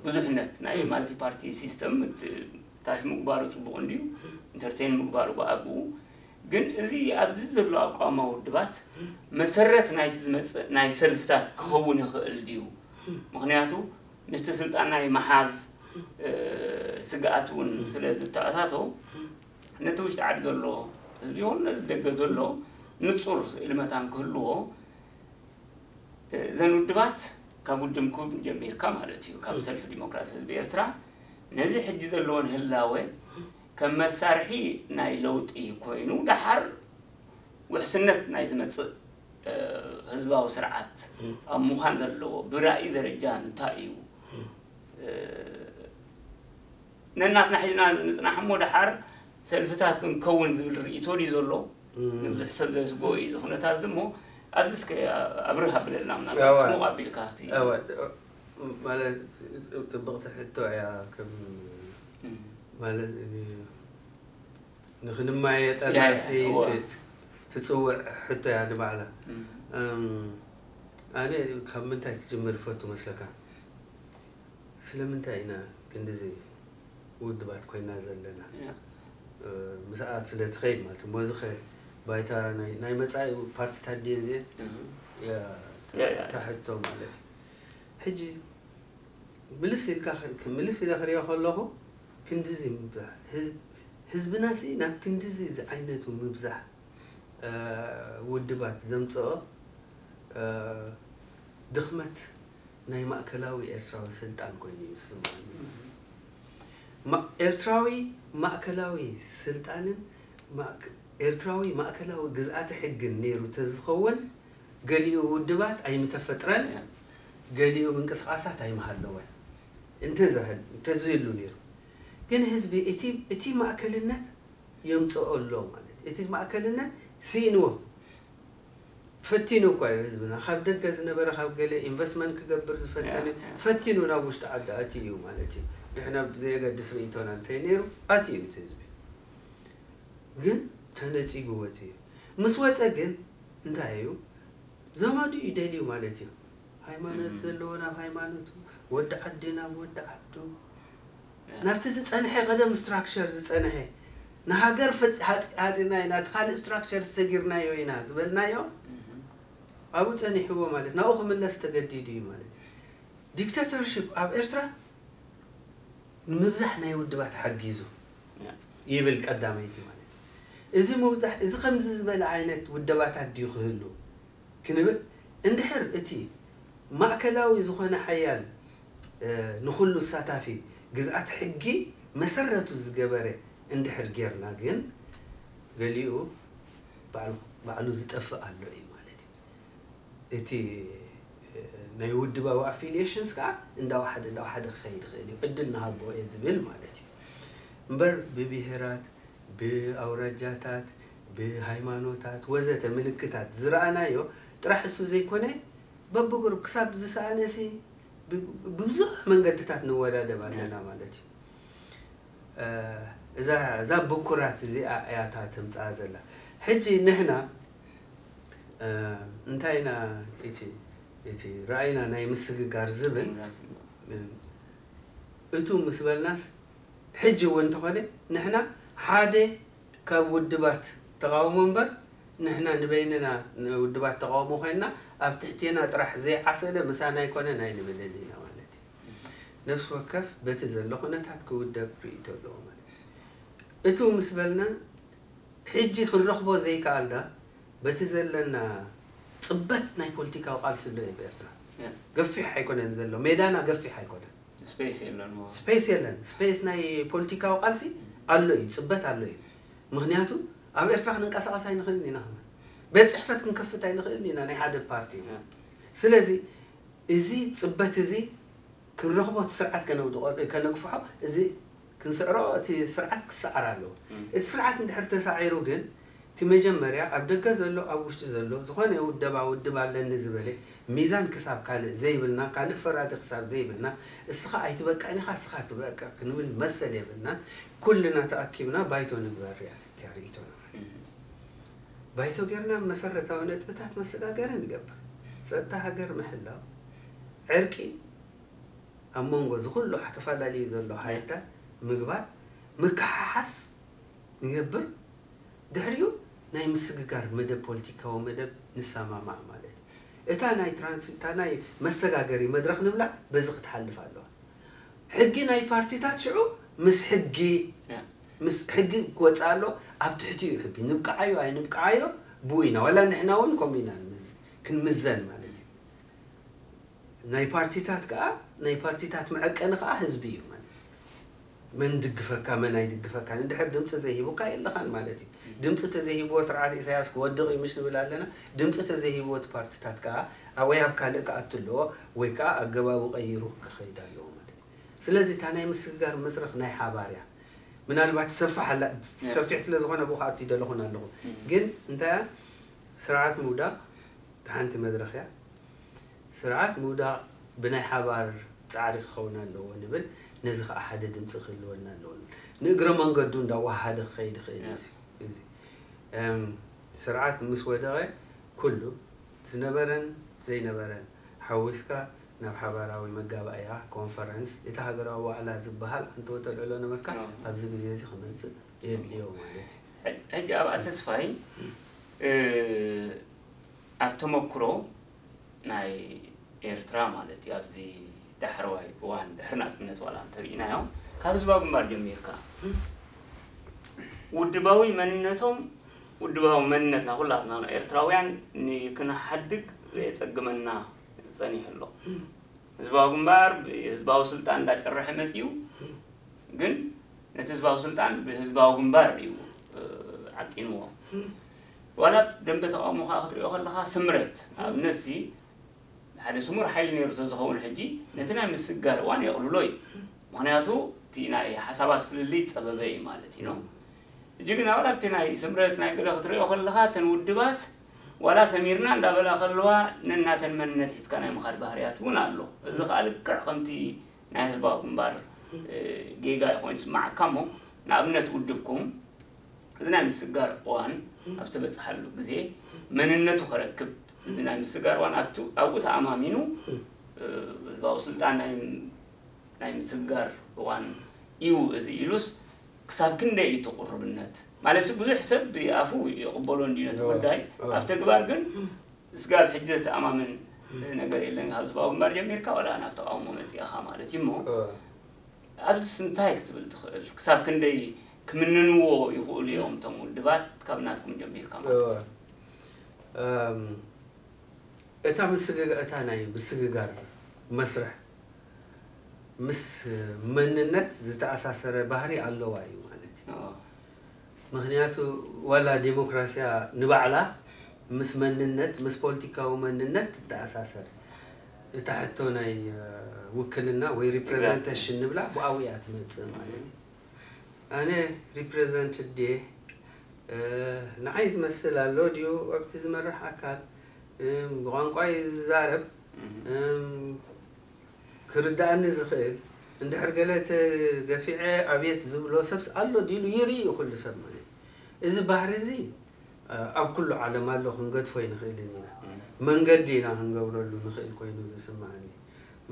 ብዙሕነት ናይ ማልቲ ፓርቲ ሲስተም ታሽ ምግባሩ ጽቡቕ እንድዩ፣ ኢንተርቴን ምግባሩ ብኣግኡ። ግን እዚ ኣብዚ ዘሎ ኣቋማ ውድባት መሰረት ናይቲ ዝመጽእ ናይ ሰልፍታት ክኸውን ይኽእል ድዩ? ምኽንያቱ ምስቲ ስልጣን ናይ መሓዝ ስግኣት እውን ስለ ዝተኣታቶ፣ ነቲ ውሽጢ ዓዲ ዘሎ ህዝቢ ይኹን ነቲ ደገ ዘሎ ንጹር ስእሊ መታን ክህልዎ፣ እዘን ውድባት ካብ ውድምኩም ጀሚርካ ማለት እዩ፣ ካብ ሰልፊ ዲሞክራሲ ህዝቢ ኤርትራ፣ ነዚ ሕጂ ዘለዎን ህላወ ከም መሳርሒ ናይ ለውጢ ኮይኑ፣ ደሓር ውሕስነት ናይ ዝመጽእ ህዝባዊ ስርዓት ኣብ ምዃን ዘለዎ ብራእይ ደረጃ እንታይ እዩ? ነናትና ሒዝና ንጽናሕ እሞ ደሓር ሰልፍታት ክንከውን ዝብል ርእይቶ ድዩ ዘሎ? ንብዙሕ ሰብ ዘስግኦ እዩ እዚ ኩነታት እዚ እሞ፣ ኣብዚ እስከ ኣብርህ ኣብለልና፣ ምናልባት ጽሙቕ ኣቢልካ እቲ ማለት ጽብቕቲ ሕቶ እያ። ከም ማለት ንኽንማየጠላሲ ትጽውዕ ሕቶ እያ ንባዕላ። ኣነ ካብ ምንታይ ክጅምር ይፈቱ መስለካ? ስለምንታይ ኢና ክንድዚ ውድባት ኮይና ዘለና? ምስኣት ስለ ትኸይድ ማለት እሞ፣ እዚ ኸ ባይታ ናይ መጻኢ ፓርቲታት ድየን እዚአን? እታ ሕቶ ማለት እዩ። ሕጂ ምልስ ኢልካ ምልስ ኢለ ክሪኦ ከለኹ፣ ክንድዚ ምብዛሕ ህዝብናሲ ናብ ክንድዚ ዝዓይነቱ ምብዛሕ ውድባት ዘምጽኦ ድኽመት ናይ ማእከላዊ ኤርትራዊ ስልጣን ኮይኑ እዩ ዝስምዓኒ። ኤርትራዊ ማእከላዊ ስልጣንን ኤርትራዊ ማእከላዊ ግዝኣተ ሕግን ነይሩ ተዝኸውን፣ ገሊኡ ውድባት ኣይምተፈጥረን፣ ገሊኡ ምንቅስቓሳት ኣይምሃለወን እንተዝህሉ ነይሩ። ግን ህዝቢ እቲ ማእከልነት የምጽኦ ኣሎ ማለት እዩ። እቲ ማእከልነት ስኢንዎ፣ ፈቲኑ እኳ እዩ ህዝብና። ካብ ደገ ዝነበረ፣ ካብ ገለ ኢንቨስትመንት ክገብር ዝፈተነ ፈቲኑ ናብ ውሽጢ ዓዲ ኣትዩ እዩ ማለት እዩ። ንሕና ብዘየገድስ ርእይቶና እንተይ ነይሩ ኣትዩ እዩ እቲ ህዝቢ። ግን ተነጺጉ ወጺኡ። ምስ ወጸ ግን እንታይ እዩ? ዘመዱ እዩ ደልዩ ማለት እዩ። ሃይማኖት ዘለዎ ናብ ሃይማኖቱ፣ ወዲ ዓዲ ናብ ወዲ ዓዱ፣ ናብቲ ዝጸንሐ ቀደም ስትራክቸር ዝጸንሐ፣ ንሃገር ሃጢና ኢና፣ እቲ ካልእ ስትራክቸር ሰጊርናዮ ኢና ዝበልናዮ ኣብኡ ጸኒሕዎ ማለት ናብኡ ክምለስ ተገዲዱ እዩ ማለት። ዲክታተርሽፕ ኣብ ኤርትራ ንምብዛሕ ናይ ውድባት ሓጊዙ ይብል ቀዳመይቲ ማለት። እዚ ምብዛሕ እዚ ከምዚ ዝበለ ዓይነት ውደባታት ድዩ ክህሉ ክንብል እንድሕር እቲ ማእከላዊ ዝኾነ ሓያል ንኹሉ ኣሳታፊ ግዝኣት ሕጊ መሰረቱ ዝገበረ እንድሕር ጌርና ግን ገሊኡ ባዕሉ ዝጠፍእ ኣሎ እዩ ማለት እዩ። እቲ ናይ ውድባዊ ኣፊሊየሽንስ ከዓ እንዳወሓደ እንዳወሓደ ክኸይድ ይኽእል እዩ፣ ዕድል ንሃቦ እየ ዝብል ማለት እዩ። እምበር ብብሄራት፣ ብኣውራጃታት፣ ብሃይማኖታት ወዘተ ምልክታት ዝረኣናዮ ጥራሕ እሱ ዘይኮነ በብጉሩብ ክሳብ ዝሰኣነሲ ብብዙሕ መንገድታት ንወዳደብ ኣለና ማለት እዩ። እዛ እዛ ብኩራት እዚኣ እያ እታ ተምጽኣ ዘላ። ሕጂ ንሕና እንታይ ኢና እቲ እቲ ራእይና ናይ ምስግጋር ዝብል እቱ ምስ በልናስ ሕጂ እውን እንተኾነ ንሕና ሓደ ካብ ውድባት ተቓውሞ እምበር ንሕና ንበይንና ንውድባት ተቓውሞ ኮይንና ኣብ ትሕቴና ጥራሕ ዘይዓሰለ ምሳና ኣይኮነን ኣይንብልን ኢና ማለት እዩ። ነፍሲ ወከፍ በቲ ዘሎ ኩነታት ክውደብ ርእይቶ ኣለዎ ማለት እዩ። እቱ ምስ በልና ሕጂ ክንረኽቦ ዘይከኣልና በቲ ዘለና ጽበት ናይ ፖለቲካዊ ቃልሲ ኣሎ እዩ ብኤርትራ። ገፊሕ ኣይኮነን ዘሎ፣ ሜዳና ገፊሕ ኣይኮነን። ስፔስ የለን። ስፔስ የለን። ስፔስ ናይ ፖለቲካዊ ቃልሲ ኣሎ እዩ፣ ጽበት ኣሎ እዩ። ምኽንያቱ ኣብ ኤርትራ ክንንቀሳቐስ ኣይንኽእልን ኢና፣ ከማን ቤት ጽሕፈት ክንከፍት ኣይንኽእልን ኢና ናይ ሓደ ፓርቲ። ስለዚ እዚ ጽበት እዚ ክንረኽቦ፣ እቲ ስርዓት ከነውድቖ፣ ከነግፍሖ፣ እዚ ክንስዕሮ፣ እቲ ስርዓት ክሰዓር ኣለዎ። እቲ ስርዓት እንድሕር ተሳዒሩ ግን፣ እቲ መጀመርያ ኣብ ደገ ዘሎ፣ ኣብ ውሽጢ ዘሎ፣ ዝኾነ ውደባ ውድብ ኣለኒ ዝበለ፣ ሚዛን ክሳብ ካልእ ዘይብልና፣ ካልእ ፈራዲ ክሳብ ዘይብልና፣ እስኻ ኣይትበቅዕን ኢኻ፣ እስኻ ትበቅዕ ክንብል መሰል የብልናን። ኩልና ተኣኪብና ባይቶ ንግበር እያ እቲያ ርእይቶና። ባይቶ ጌርና መሰረታዊ ነጥብታት መሰጋገሪ ንገብር። ጸጥታ ሃገር ምሕላው፣ ዕርቂ ኣብ መንጎ እዚ ኩሉ ተፈላለዩ ዘሎ ሓይልታት ምግባር፣ ምክሓሓስ ንገብር። ድሕሪኡ ናይ ምስግጋር መደብ፣ ፖለቲካዊ መደብ ንሰማማዕ ማለት እዩ። እታ ናይ ትራንስ-፣ እታ ናይ መሰጋገሪ መድረኽ ንብላ በዚ ክትሓልፍ ኣለዋ። ሕጊ ናይ ፓርቲታት ሽዑ ምስ ሕጊ፣ ያ። ምስ ሕጊ ክወጽእ ኣሎ። ኣብ ትሕቲ እዩ ሕጊ። ንብቅዓዮ ኣይንብቅዓዮ ብኡ ኢና። ዋላ ንሕና እውን ከምኡ ኢና ንምዝ-፣ ክንምዘን ማለት እዩ። ናይ ፓርቲታት ከኣ፣ ናይ ፓርቲታት መዐቀኒ ከኣ ህዝቢ እዩ ማለት እዩ። መን ድግፈካ፣ መን ኣይድግፈካን። እንድሕር ድምጺ ዘይሂቡካ የለኻን ማለት እዩ። ድምጺ ተዘይሂብዎ ስርዓት ኢሳያስ ክወድቕ እዩ ምሽ ንብል ኣለና። ድምጺ ተዘይሂብዎ እቲ ፓርቲታት ከኣ፣ ኣ-፣ ወይ ኣብ ካልእ ክኣቱ ኣለዎ፣ ወይ ከኣ ኣገባቡ ቀይሩ ክኸይድ ኣለዎ ማለት እዩ። ስለዚ እታ ናይ ምስግጋር መድረኽ ናይ ሓባር እያ። ምናልባት ትሰፍሕ ኣላ፣ ያ። ሰፊሕ ስለ ዝኾነ ብኡ ክኣቱ ይደለኹን ኣለኹ። እም። ግን እንታይ እያ? ስርዓት ምውዳቕ እታ ሓንቲ መድረኽ እያ። ስርዓት ምውዳቕ ብናይ ሓባር ጻዕሪ ክኸውን ኣለዎ ንብል። ነዚ ኸኣ ሓደ ድምጺ ክህልወና ኣለዎ ንብል። ንእግረ መንገዱ እንዳወሃደ ክኸይድ ይኽእል እዩ ያ። እዚ። እዚ፣ እም፣ ስርዓት ምስ ወደቐ ኩሉ ዝነበረን ዘይነበረን ሓዊስካ ናብ ሓባራዊ መጋባእያ፣ ኮንፈረንስ፣ እቲ ሃገራዊ ዋዕላ ዝበሃል ኣንተ ወተልዕሎ ነበርካ፣ ኣዎ። ኣብዚ ግዜ እዚ ክመጽእ የድልዮ ማለት እዩ። ሕጂ ኣብኣ ተስፋይ፣ እ፣ ኣብ ተመክሮ ናይ ኤርትራ ማለት እዩ፣ ኣብዚ ዳሕረዋይ እዋን ድሕሪ ናጽነት ዋላ እንተርኢናዮ፣ ካብ ህዝባዊ ግንባር ጀሚርካ፣ ውድባዊ መንነቶም፣ ውድባዊ መንነትና ኩላትና ኤርትራውያን ንክንሓድግ ዘየጸግመና ጸኒሑ ኣሎ። ህዝባዊ ግንባር ብህዝባዊ ስልጣን እንዳጨረሐ መጺኡ፣ ግን ነቲ ህዝባዊ ስልጣን ብህዝባዊ ግንባር እዩ፣ እ፣ ዓቂንዎ። ዋላ ደንበ ተቃውሞ ከኣ ክትሪኦ ከለኻ ስምረት፣ ኣብነት እዚ ሓደ ስሙር ሓይሊ ነይሩ ተዝኸውን ሕጂ ነቲ ናይ ምስግጋር እዋን የቕልሎ እዩ። ምኽንያቱ እቲ ናይ ሓሳባት ፍልልይ ጸበበ እዩ ማለት እዩ። ሕጂ ግን ዋላ ኣብቲ ናይ ስምረት ናይ ገለ ክትሪኦ ከለኻ እተን ውድባት ዋላ ሰሚርና እንዳበላ ከለዋ ነናተን መንነት ሒዝካ ናይ ምኻድ ባህርያት እውን ኣሎ። እዚ ከኣ ልክዕ ከምቲ ናይ ህዝባዊ ግንባር፣ እ፣ ጌጋ ኮይኑ ይስምዓካ እሞ ንኣብነት ውድብኩም እዚ ናይ ምስግጋር እዋን ኣብ ተበጽሓሉ ግዜ መንነቱ ከረክብ፣ እዚ ናይ ምስግጋር እዋን ኣብቱ-፣ ኣብኡ ተኣማሚኑ፣ እ፣ ህዝባዊ ስልጣን ናይ፣ ናይ ምስግጋር እዋን እዩ እዚ ኢሉስ ክሳብ ክንደይ እዩ እቲ ቁርብነት? ማለት ብዙሕ ሰብ ብኣፉ ይቕበሎ እንድዩ ነቲ ኣዎ፣ ጉዳይ፣ ኣዎ። ኣብ ተግባር ግን ስጋብ ሕጂ ዘተኣማምን ነገር የለን። ካብ ህዝባዊ ግንባር ጀሚርካ ዋላ ናብ ተቃውሞ መጺእኻ ማለት እዩ እሞ፣ እ። ኣብዚስ እንታይ ክትብል ትኽእል? ክሳብ ክንደይ ክምንንዎ ይኽእሉ እዮም እቶም ውድባት ካብ ናትኩም ጀሚርካ ማለት እዩ? እ። እም፣ እታ ምስግጋ-፣ እታ ናይ ምስግጋር መስርሕ ምስ መንነት ዝተኣሳሰረ ባህሪ ኣለዋ እዩ ማለት እዩ። ኣዎ። ምኽንያቱ ዋላ ዴሞክራስያ ንባዕላ ምስ መንነት፣ ምስ ፖለቲካዊ መንነት ትተኣሳሰር። እታ ሕቶ ናይ፣ እ፣ ውክልና ወይ ሪፕሬዘንቴሽን ንብላ ብኣኡ እያ ትመጽእ ማለት እዩ። ኣነ ሪፕሬዘንትድ ድየ? እ፣ ንዓይ ዝመስል ኣሎ ድዩ ኣብቲ ዝመርሕ ኣካል? እም፣ ብቋንቋይ ዝዛረብ፣ እም። እም፣ ክርድኣኒ ዝኽእል፣ እንድሕር ገለ ተገፊዐ ኣቤት ዝብሎ ሰብስ ኣሎ ድዩ ኢሉ ይርኢ እዩ ኩሉ ሰብ ማለት እዩ። እዚ ባህሪ እዚ፣ እ፣ ኣብ ኩሉ ዓለም ኣሎ፣ ክንገድፎ ኣይንኽእልን ኢና። እም። መንገዲ ኢና ክንገብረሉ ንኽእል ኮይኑ ዝስምዓኒ።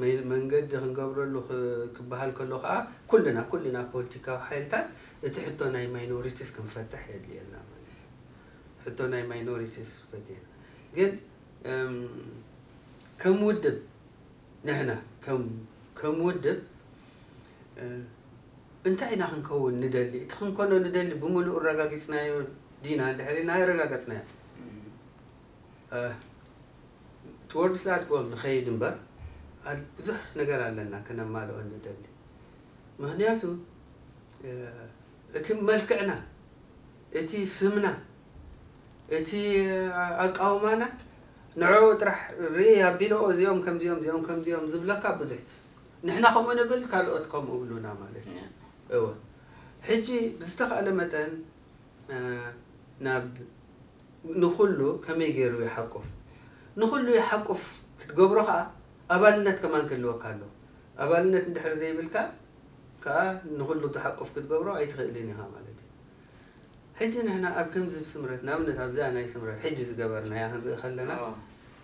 መ-፣ መንገዲ ክንገብረሉ ክ-፣ ክበሃል ከሎ ከኣ ኩልና፣ ኩልና ፖለቲካዊ ሓይልታት እቲ ሕቶ ናይ ማይኖሪቲስ ክንፈትሕ የድልየና ማለት እዩ። ሕቶ ናይ ማይኖሪቲስ ፈቲሕና። ግን፣ እም፣ ከም ውድብ ንሕና ከም፣ ከም ውድብ፣ እ፣ እንታይ ኢና ክንከውን ንደሊ? እቲ ክንኮኖ ንደሊ ብምሉእ ኣረጋጊጽናዮ ዲና? እንድሕር ኢልና ኣይረጋገጽናዮ። እም። እ፣ towards that goal ንኸይድ እምበር፣ ኣል-፣ ብዙሕ ነገር ኣለና ከነማልኦ ንደሊ። ምኽንያቱ፣ እ፣ እቲ መልክዕና፣ እቲ ስምና፣ እቲ ኣቃውማና ንዕኡ ጥራሕ ርኢ ኣቢሎ እዚኦም ከምዚኦም እዚኦም ከምዚኦም ዝብለካ ብዙሕ። ንሕና ከምኡ ንብል ካልኦት ከምኡ ብሉና ማለት እዩ። እወ። ሕጂ ብዝተኻእለ መጠን ናብ ንኹሉ ከመይ ገይሩ ይሓቁፍ? ንኹሉ ይሓቁፍ ክትገብሮ ኸዓ ኣባልነት ከማን ክህልወካ ኣለዎ። ኣባልነት እንድሕር ዘይብልካ ከዓ ንኹሉ ትሓቁፍ ክትገብሮ ኣይትኽእልን ኢኻ ማለት እዩ። ሕጂ ንሕና ኣብ ከምዚ ስምረት ንኣብነት ኣብዚኣ ናይ ስምረት ሕጂ ዝገበርናያ ክንርኢ ከለና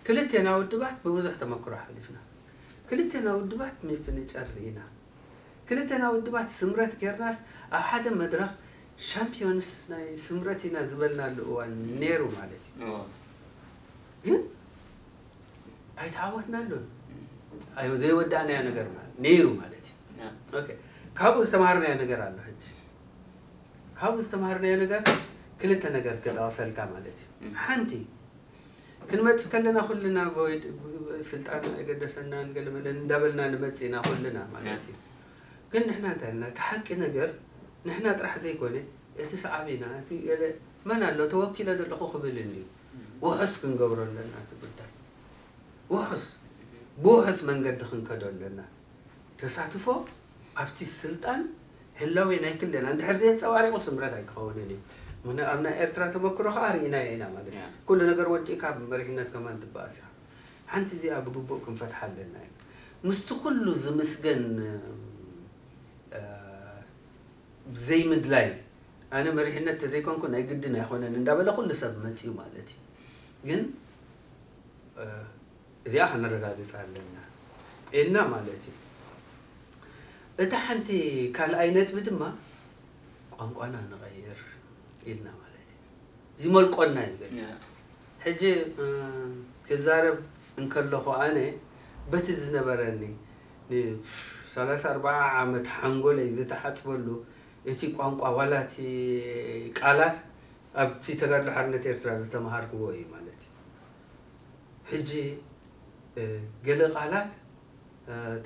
ክልቴና ውድባት ብብዙሕ ተመክሮ ሓሊፍና። ክልቴና ውድባት ምፍንጫር ርኢና። ክልተና ውድባት ስምረት ጌርናስ ኣብ ሓደ መድረኽ ሻምፒዮንስ ናይ ስምረት ኢና ዝበልናሉ እዋን ነይሩ ማለት እዩ። ግን ኣይተዓወትናሉን። ኣይ ዘይወዳእናዮ ነገር ማለት ነይሩ ማለት እዩ። ኦኬ፣ ካብኡ ዝተማሃርናዮ ነገር ኣሎ። ሕጂ ካብኡ ዝተማሃርናዮ ነገር ክልተ ነገር ክጠቕሰልካ ማለት እዩ። ሓንቲ ክንመጽእ ከለና ኩልና ስልጣን ኣይገደሰናን ገለመለን እንዳበልና ንመጽእ ኢና ኩልና ማለት እዩ። ግን ንሕና እንታይ ኢልና እቲ ሓቂ ነገር ንሕና ጥራሕ ዘይኮነ እቲ ሰዓቢና እቲ ገለ መን ኣሎ ተወኪለ ዘለኹ ክብል እንድዩ። ውሑስ ክንገብሮ ኣለና እቲ ጉዳይ። ውሑስ ብውሑስ መንገዲ ክንከዶ ኣለና። ተሳትፎ ኣብቲ ስልጣን ህላዌ ናይ ክልና እንድሕር ዘየንጸባሪቑ ስምረት ኣይክኸውንን እዩ። ምክንያቱ ኣብ ናይ ኤርትራ ተመክሮ ከዓ ርኢናዮ ኢና ማለት እዩ። ኩሉ ነገር ወዲእካ ብመሪሕነት ከማን ትበኣስ ኢኻ። ሓንቲ እዚኣ ብግቡእ ክንፈትሓ ኣለና እዩ። ምስቲ ኩሉ ዝምስገን ዘይምድላይ ኣነ መሪሕነት ተዘይኮንኩ ናይ ግድን ኣይኮነን እንዳበለ ኩሉ ሰብ መፅዩ ማለት እዩ። ግን እዚኣ ከነረጋግፃ ኣለና ኢልና ማለት እዩ። እታ ሓንቲ ካልኣይ ነጥቢ ድማ ቋንቋና ንቐይር ኢልና ማለት እዩ። ዝመልቆና እዩ ዘሎ። ሕጂ ክዛረብ እንከለኹ ኣነ በቲ ዝነበረኒ ን ሰላሳ ኣርባዓ ዓመት ሓንጎለይ ዝተሓፅበሉ እቲ ቋንቋ ዋላ እቲ ቃላት ኣብቲ ተጋድሎ ሓርነት ኤርትራ ዝተምሃርክዎ እዩ ማለት እዩ። ሕጂ ገለ ቃላት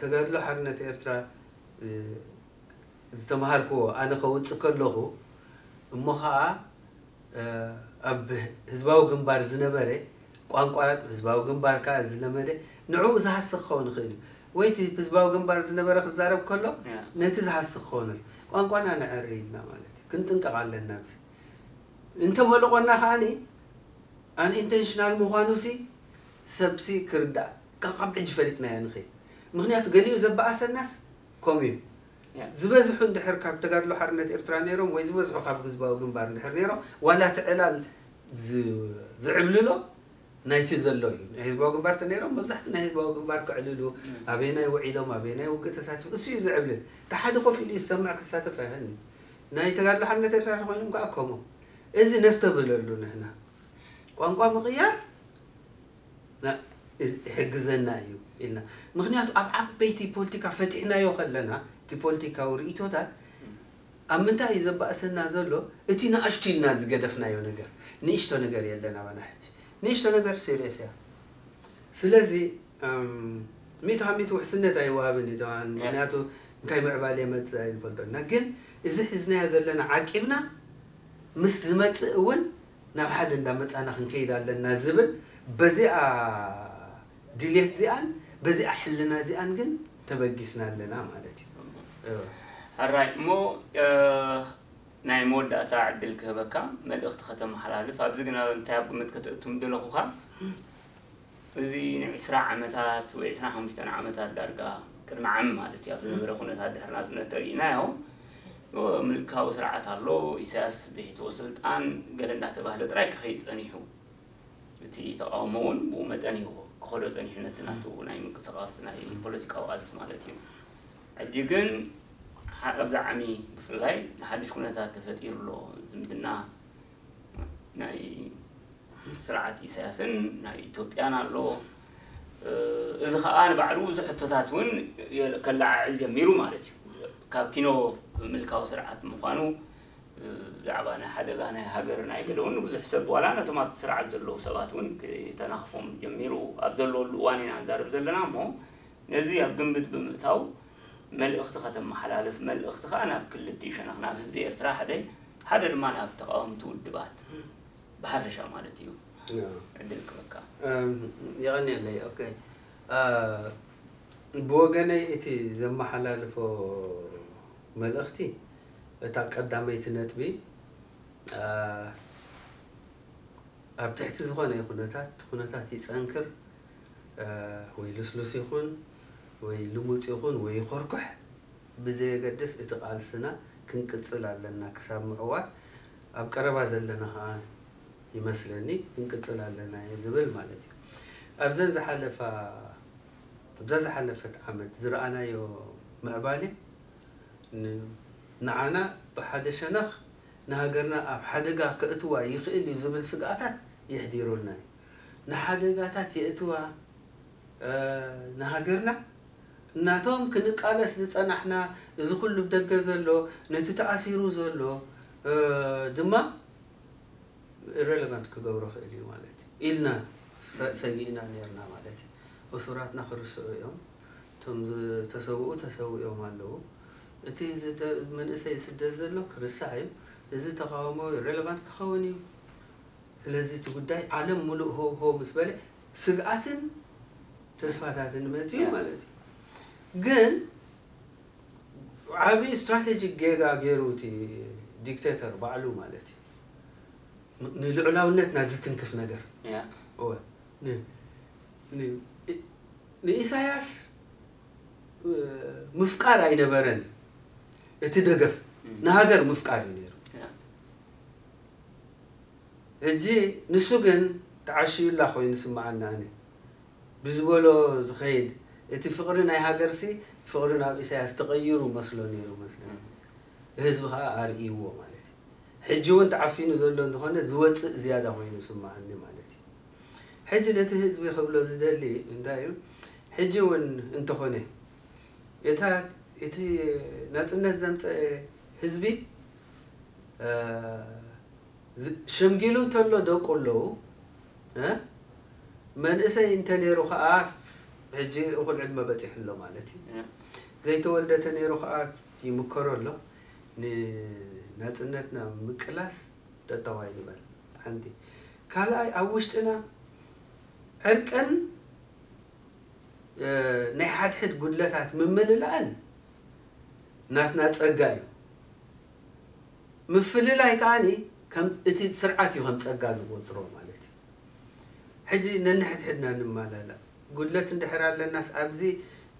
ተጋድሎ ሓርነት ኤርትራ ዝተምሃርክዎ ኣነ ከውፅእ ከለኹ እሞ ኸዓ ኣብ ህዝባዊ ግንባር ዝነበረ ቋንቋ ህዝባዊ ግንባር ከዓ ዝለመደ ንዕኡ ዝሃስኽ ክኸውን ይኽእል እዩ። ወይ እቲ ህዝባዊ ግንባር ዝነበረ ክዛረብ ከሎ ነቲ ዝሃስኽ ክኸውን ቋንቋና ነዐሪ ኢልና ማለት እዩ። ክንጥንቀቕ ኣለና። ኣብዚ እንተመልቆና ከዓኒ ኣን ኢንቴንሽናል ምዃኑ ሲ ሰብሲ ክርዳእ ካብ ሕጂ ፈሊጥናዮ ንኸይድ። ምክንያቱ ገሊኡ ዘበኣሰናስ ከምኡ እዩ። ዝበዝሑ እንድሕር ካብ ተጋድሎ ሓርነት ኤርትራ ነይሮም ወይ ዝበዝሑ ካብ ህዝባዊ ግንባር እንድሕር ነይሮም ዋላ እቲ ዕላል ዝዕብልሎ ናይቲ ዘሎ እዩ። ናይ ህዝባዊ ግንባር ተነይሮም መብዛሕትኡ ናይ ህዝባዊ ግንባር ክዕልሉ ኣበየናይ ውዒሎም ኣበየናይ ውግእ ተሳቲፎም እሱ እዩ ዝዕብልል። እቲ ሓደ ኮፍ ኢሉ እዩ ዝሰምዕ ክሳተፍ ኣይኽእልን እዩ። ናይ ተጋድሎ ሓርነት ኤርትራ ተኮይኖም ከዓ ከምኡ። እዚ ነስተብህለሉ ንሕና ቋንቋ ምቕያር ይሕግዘና እዩ ኢልና። ምክንያቱ ኣብ ዓበይቲ ፖለቲካ ፈቲሕናዮ ከለና እቲ ፖለቲካዊ ርእቶታት ኣብ ምንታይ እዩ ዘባእሰና ዘሎ? እቲ ንኣሽቱ ኢልና ዝገደፍናዮ ነገር ንእሽቶ ነገር የለን ኣባና ሕጂ። ንእሽቶ ነገር ሴሪየስ እያ። ስለዚ ሚእቲ ካብ ሚእቲ ውሕስነት ኣይወሃብን እዩ ተባን ምክንያቱ እንታይ ምዕባል የመፅእ ኣይንፈልጦ ኢና። ግን እዚ ሒዝናዮ ዘለና ዓቂብና ምስ ዝመፅእ እውን ናብ ሓደ እንዳመፃና ክንከይድ ኣለና ዝብል በዚኣ ድሌት እዚኣን በዚኣ ሕልና እዚኣን ግን ተበጊስና ኣለና ማለት እዩ። ሕራይ እሞ ናይ መወዳእታ ዕድል ክህበካ መልእኽቲ ከተመሓላልፍ ኣብዚ ግን ኣብ እንታይ ኣብ ግምት ከተእቱ ምደለኹኻ እዚ ንዕስራ ዓመታት ወይ ዕስራን ሓሙሽተን ዓመታት ዳርጋ ቅድሚ ዓሚ ማለት እዩ ኣብ ዝነበረ ኩነታት ድሕሪ ናፅነት ተሪኢናዮ። ምልካዊ ስርዓት ኣሎ። ኢሳያስ ብሒትዎ ስልጣን ገለ እንዳተባህለ ጥራይ ክኸይድ ፀኒሑ። እቲ ተቃውሞ እውን ብኡ መጠን እዩ ክኸዶ ፀኒሑ ነቲ ናቱ ናይ ምንቅስቃስ ናይ ፖለቲካዊ ቃልሲ ማለት እዩ። ሕጂ ግን ኣብዚ ዓሚ ብፍላይ ሓድሽ ኩነታት ተፈጢሩ ኣሎ። ዝምድና ናይ ስርዓት ኢሳያስን ናይ ኢትዮጵያን ኣሎ። እዚ ከዓ ንባዕሉ ብዙሕ ሕቶታት እውን ከለዓዕል ጀሚሩ ማለት እዩ። ካብ ኪኖ ምልካዊ ስርዓት ምዃኑ ብዛዕባ ናይ ሓደጋ ናይ ሃገር ናይ ገለ እውን ብዙሕ ሰብ ዋላ ነቶም ኣብቲ ስርዓት ዘለዉ ሰባት እውን ክተናኽፎም ጀሚሩ ኣብ ዘለወሉ እዋን ኢና ንዛረብ ዘለና እሞ ነዚ ኣብ ግምት ብምእታው መልእኽቲ ከተመሓላልፍ፣ መልእኽቲ ከዓ ናብ ክልቲኡ ሸነኽ ናብ ህዝቢ ኤርትራ ሓደ ሓደ ድማ ናብ ተቃወምቲ ውድባት ብሓፈሻ ማለት እዩ። ዕድል ክበካ። የቐንየለይ። ኦኬ፣ ብወገነይ እቲ ዘመሓላልፎ መልእኽቲ፣ እታ ቀዳመይቲ ነጥቢ፣ ኣብ ትሕቲ ዝኾነ ኩነታት፣ ኩነታት ይጸንክር ወይ ልስሉስ ይኹን ወይ ልሙጽ ይኹን ወይ ይኾርኩሕ፣ ብዘየገድስ እቲ ቃልስና ክንቅጽል ኣለና። ክሳብ ምዕዋት ኣብ ቀረባ ዘለና ኸኣ ይመስለኒ ክንቅጽል ኣለና እዩ ዝብል ማለት እዩ። ኣብዘን ዝሓለፋ ኣብዛ ዝሓለፈት ዓመት ዝረኣናዮ ምዕባለ፣ ንዓና ብሓደ ሸነኽ ንሃገርና ኣብ ሓደጋ ከእትዋ ይኽእል እዩ ዝብል ስግኣታት የሕዲሩልና እዩ። ንሓደጋታት የእትዋ ንሃገርና እናቶም ክንቃለስ ዝጸናሕና፣ እዚ ኩሉ ብደገ ዘሎ፣ ነቲ ተኣሲሩ ዘሎ ድማ relevant ክገብሮ ክእል እዩ ማለት እዩ ኢልና ሰጊእና ነርና ማለት እዩ። እሱራትና ክርስዑ እዮም። እቶም ዝተሰውኡ ተሰዊኦም ኣለዉ። እቲ መንእሰይ ዝስደድ ዘሎ ክርስዕ እዩ። እዚ ተቃውሞ relevant ክኸውን እዩ። ስለዚ እቲ ጉዳይ ዓለም ሙሉእ ሆ ሆ ምስ በለ ስግኣትን ተስፋታትን መፅዩ ማለት እዩ። ግን ዓብዪ strategic ጌጋ ገይሩ እቲ dictator ባዕሉ ማለት እዩ። ንልዑላውነትና ዝትንክፍ ነገር። እወ፣ ንኢሳያስ ምፍቃር ኣይነበረን። እቲ ደገፍ ንሃገር ምፍቃር እዩ ነይሩ። ሕጂ ንሱ ግን ተዓሽዩላ ኮይኑ ስምዓና። ኣነ ብዝበሎ ዝኸይድ፣ እቲ ፍቕሪ ናይ ሃገርሲ ፍቕሪ ናብ ኢሳያስ ተቐይሩ መስሎ ነይሩ መስለኒ። ህዝቢ ኸኣ ኣርእይዎ ማለት እዩ። ሕጂ እውን ተዓፊኑ ዘሎ እንተኾነ ዝወፅእ ዝያዳ ኮይኑ ስምዓኒ ማለት እዩ። ሕጂ ነቲ ህዝቢ ክብሎ ዝደሊ እንታይ እዩ? ሕጂ እውን እንተኾነ እታ እቲ ናፅነት ዘምፀአ ህዝቢ ሸምጊሉ እንተሎ ደቁ ኣለዉ። መንእሰይ እንተነይሩ ከዓ ሕጂ እኹል ዕድመ በፂሑ ኣሎ ማለት እዩ። ዘይተወልደ ተነይሩ ከዓ ይምከሮ ኣሎ። ንናፅነትና ምቅላስ ጠጠዋይ ንበል። ሓንቲ ካልኣይ ኣብ ውሽጥና ዕርቅን ናይ ሓድሕድ ጉድለታት ምምልላእን ናትና ጸጋ እዩ። ምፍልላይ ከዓኒ ከም እቲ ስርዓት እዩ ከም ጸጋ ዝቆጽሮ ማለት እዩ። ሕጂ ነንሕድሕድና ንማላላእ። ጉድለት እንድሕር ኣለናስ ኣብዚ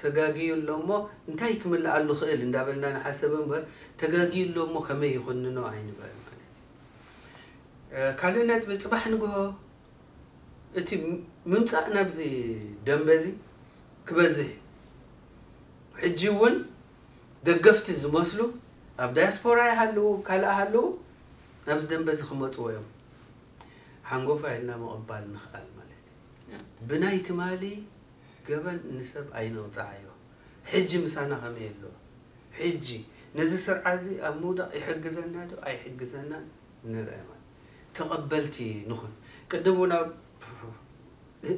ተጋግዩ ኣሎ እሞ እንታይ ክምልኣሉ ክእል እንዳበልና ንሓሰብ እምበር ተጋግዩ ኣሎ እሞ ከመይ ይኹንኖ ኣይንበል ማለት እዩ። ካልእ ነጥቢ ጽባሕ ንግሆ እቲ ምምጻእ ናብዚ ደንበዚ ክበዝሕ እዩ። ሕጂ እውን ደገፍቲ ዝመስሉ ኣብ ዳያስፖራ ይሃልዉ ካልእ ሃልዉ ናብዚ ደንበዚ ክመፅዎ እዮም። ሓንጎፋ ኢልና ምቕባል ንኽኣል ማለት እዩ። ብናይ ትማሊ ገበን ንሰብ ኣይንቕፃዓዮ። ሕጂ ምሳና ከመይ ኣሎ? ሕጂ ነዚ ስርዓት እዚ ኣብ ምውዳቕ ይሕግዘና ዶ ኣይሕግዘናን ንርአ ማለት ተቐበልቲ ንኹን። ቅድም እውን ኣብ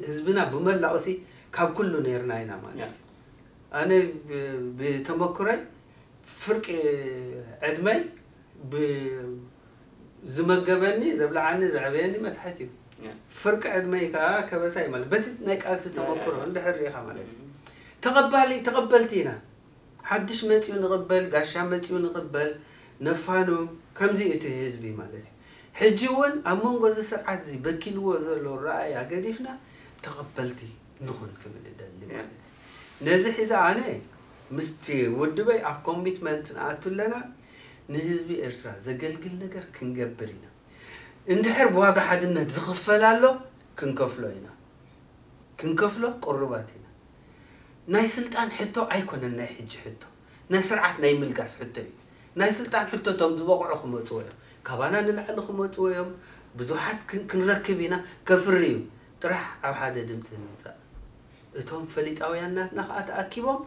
ህዝብና ብመላኡሲ ካብ ኩሉ ነይርና ኢና ማለት እዩ። ኣነ ብተመክሮይ ፍርቂ ዕድመይ ዝመገበኒ ዘብልዓኒ ዘዕበየኒ መትሓት እዩ። ፍርቂ ዕድመይ ከዓ ከበሳ እዩ ማለት በቲ ናይ ቃልሲ ተመክሮ እንድሕር ርኢኻ ማለት እዩ። ተቐባሊ ተቐበልቲ ኢና። ሓድሽ መፂኡ ንቕበል፣ ጋሻ መፂኡ ንቕበል፣ ነፋኑ ከምዚ እዩ እቲ ህዝቢ ማለት እዩ። ሕጂ እውን ኣብ መንጎ እዚ ስርዓት እዚ በኪልዎ ዘሎ ረኣያ ገዲፍና ተቐበልቲ ንኹን ክብል እደሊ ማለት እዩ። ነዚ ሒዘ ኣነ ምስቲ ውድበይ ኣብ ኮሚትመንት ንኣቱ ኣለና። ንህዝቢ ኤርትራ ዘገልግል ነገር ክንገብር ኢና። እንድሕር ብዋጋ ሓድነት ዝኽፈል ኣሎ ክንከፍሎ ኢና። ክንከፍሎ ቅሩባት ኢና። ናይ ስልጣን ሕቶ ኣይኮነን ናይ ሕጂ ሕቶ። ናይ ስርዓት ናይ ምልጋስ ሕቶ እዩ። ናይ ስልጣን ሕቶ እቶም ዝበቕዑ ክመፅዎ እዮም። ካባና ንላዕሊ ክመፅዎ እዮም። ብዙሓት ክንረክብ ኢና። ከፍሪ እዩ። ጥራሕ ኣብ ሓደ ድምፂ ንምፃእ። እቶም ፈሊጣውያን ናትና ከዓ ተኣኪቦም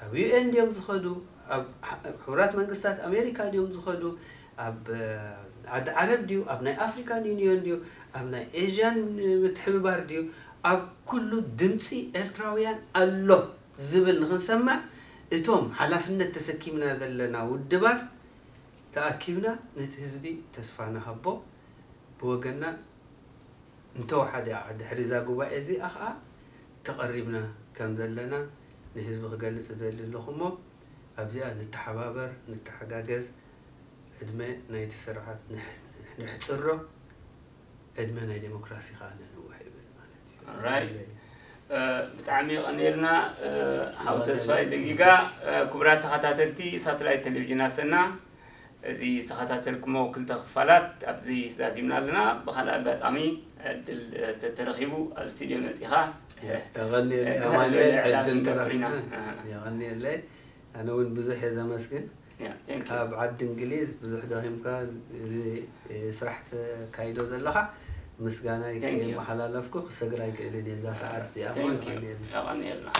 ኣብ ዩ ኤን ድዮም ዝኸዱ? ኣብ ሕቡራት መንግስታት ኣሜሪካ ድዮም ዝኸዱ? ኣብ ዓዲ ዓረብ ድዩ? ኣብ ናይ ኣፍሪካን ዩኒዮን ድዩ? ኣብ ናይ ኤዥያን ምትሕብባር ድዩ? ኣብ ኩሉ ድምፂ ኤርትራውያን ኣሎ ዝብል ንክንሰምዕ እቶም ሓላፍነት ተሰኪምና ዘለና ውድባት ተኣኪብና ነቲ ህዝቢ ተስፋ ንሃቦ። ብወገንና እንተወሓደ ድሕሪ እዛ ጉባኤ እዚኣ ከዓ ተቐሪብና ከም ዘለና ንህዝቢ ክገልፅ እደሊ ኣለኹ እሞ ኣብዚኣ ንተሓባበር፣ ንተሓጋገዝ። ዕድመ ናይቲ ስርዓት ንሕ- ንሕፅሮ፣ ዕድመ ናይ ዴሞክራሲ ከዓ ነንውሕ ይብል ማለት እዩ። Alright። ብጣዕሚ የቐንየልና ሓው ተስፋይ ደጊጋ። ክቡራት ተኸታተልቲ ሳተላይት ቴሌቪዥን ኣሰና፣ እዚ ዝተኸታተልኩሞ ክልተ ክፋላት ኣብዚ ዛዚምና ኣለና። ብካልእ ኣጋጣሚ ዕድል ተተረኺቡ ኣብ ስቱድዮ መፂኻ የቐንየለይ ኣማኑኤል፣ ዕድል ተረኺብና። የቐንየለይ። ኣነ እውን ብዙሕ እየ ዘመስግን። ካብ ዓዲ እንግሊዝ ብዙሕ ደኺምካ እዚ ስራሕ ተካይዶ ዘለኻ ምስጋና ይመሓላለፍኩ። ክሰግር ኣይክእልን እየ እዛ ሰዓት እዚኣ። የቐንየልና።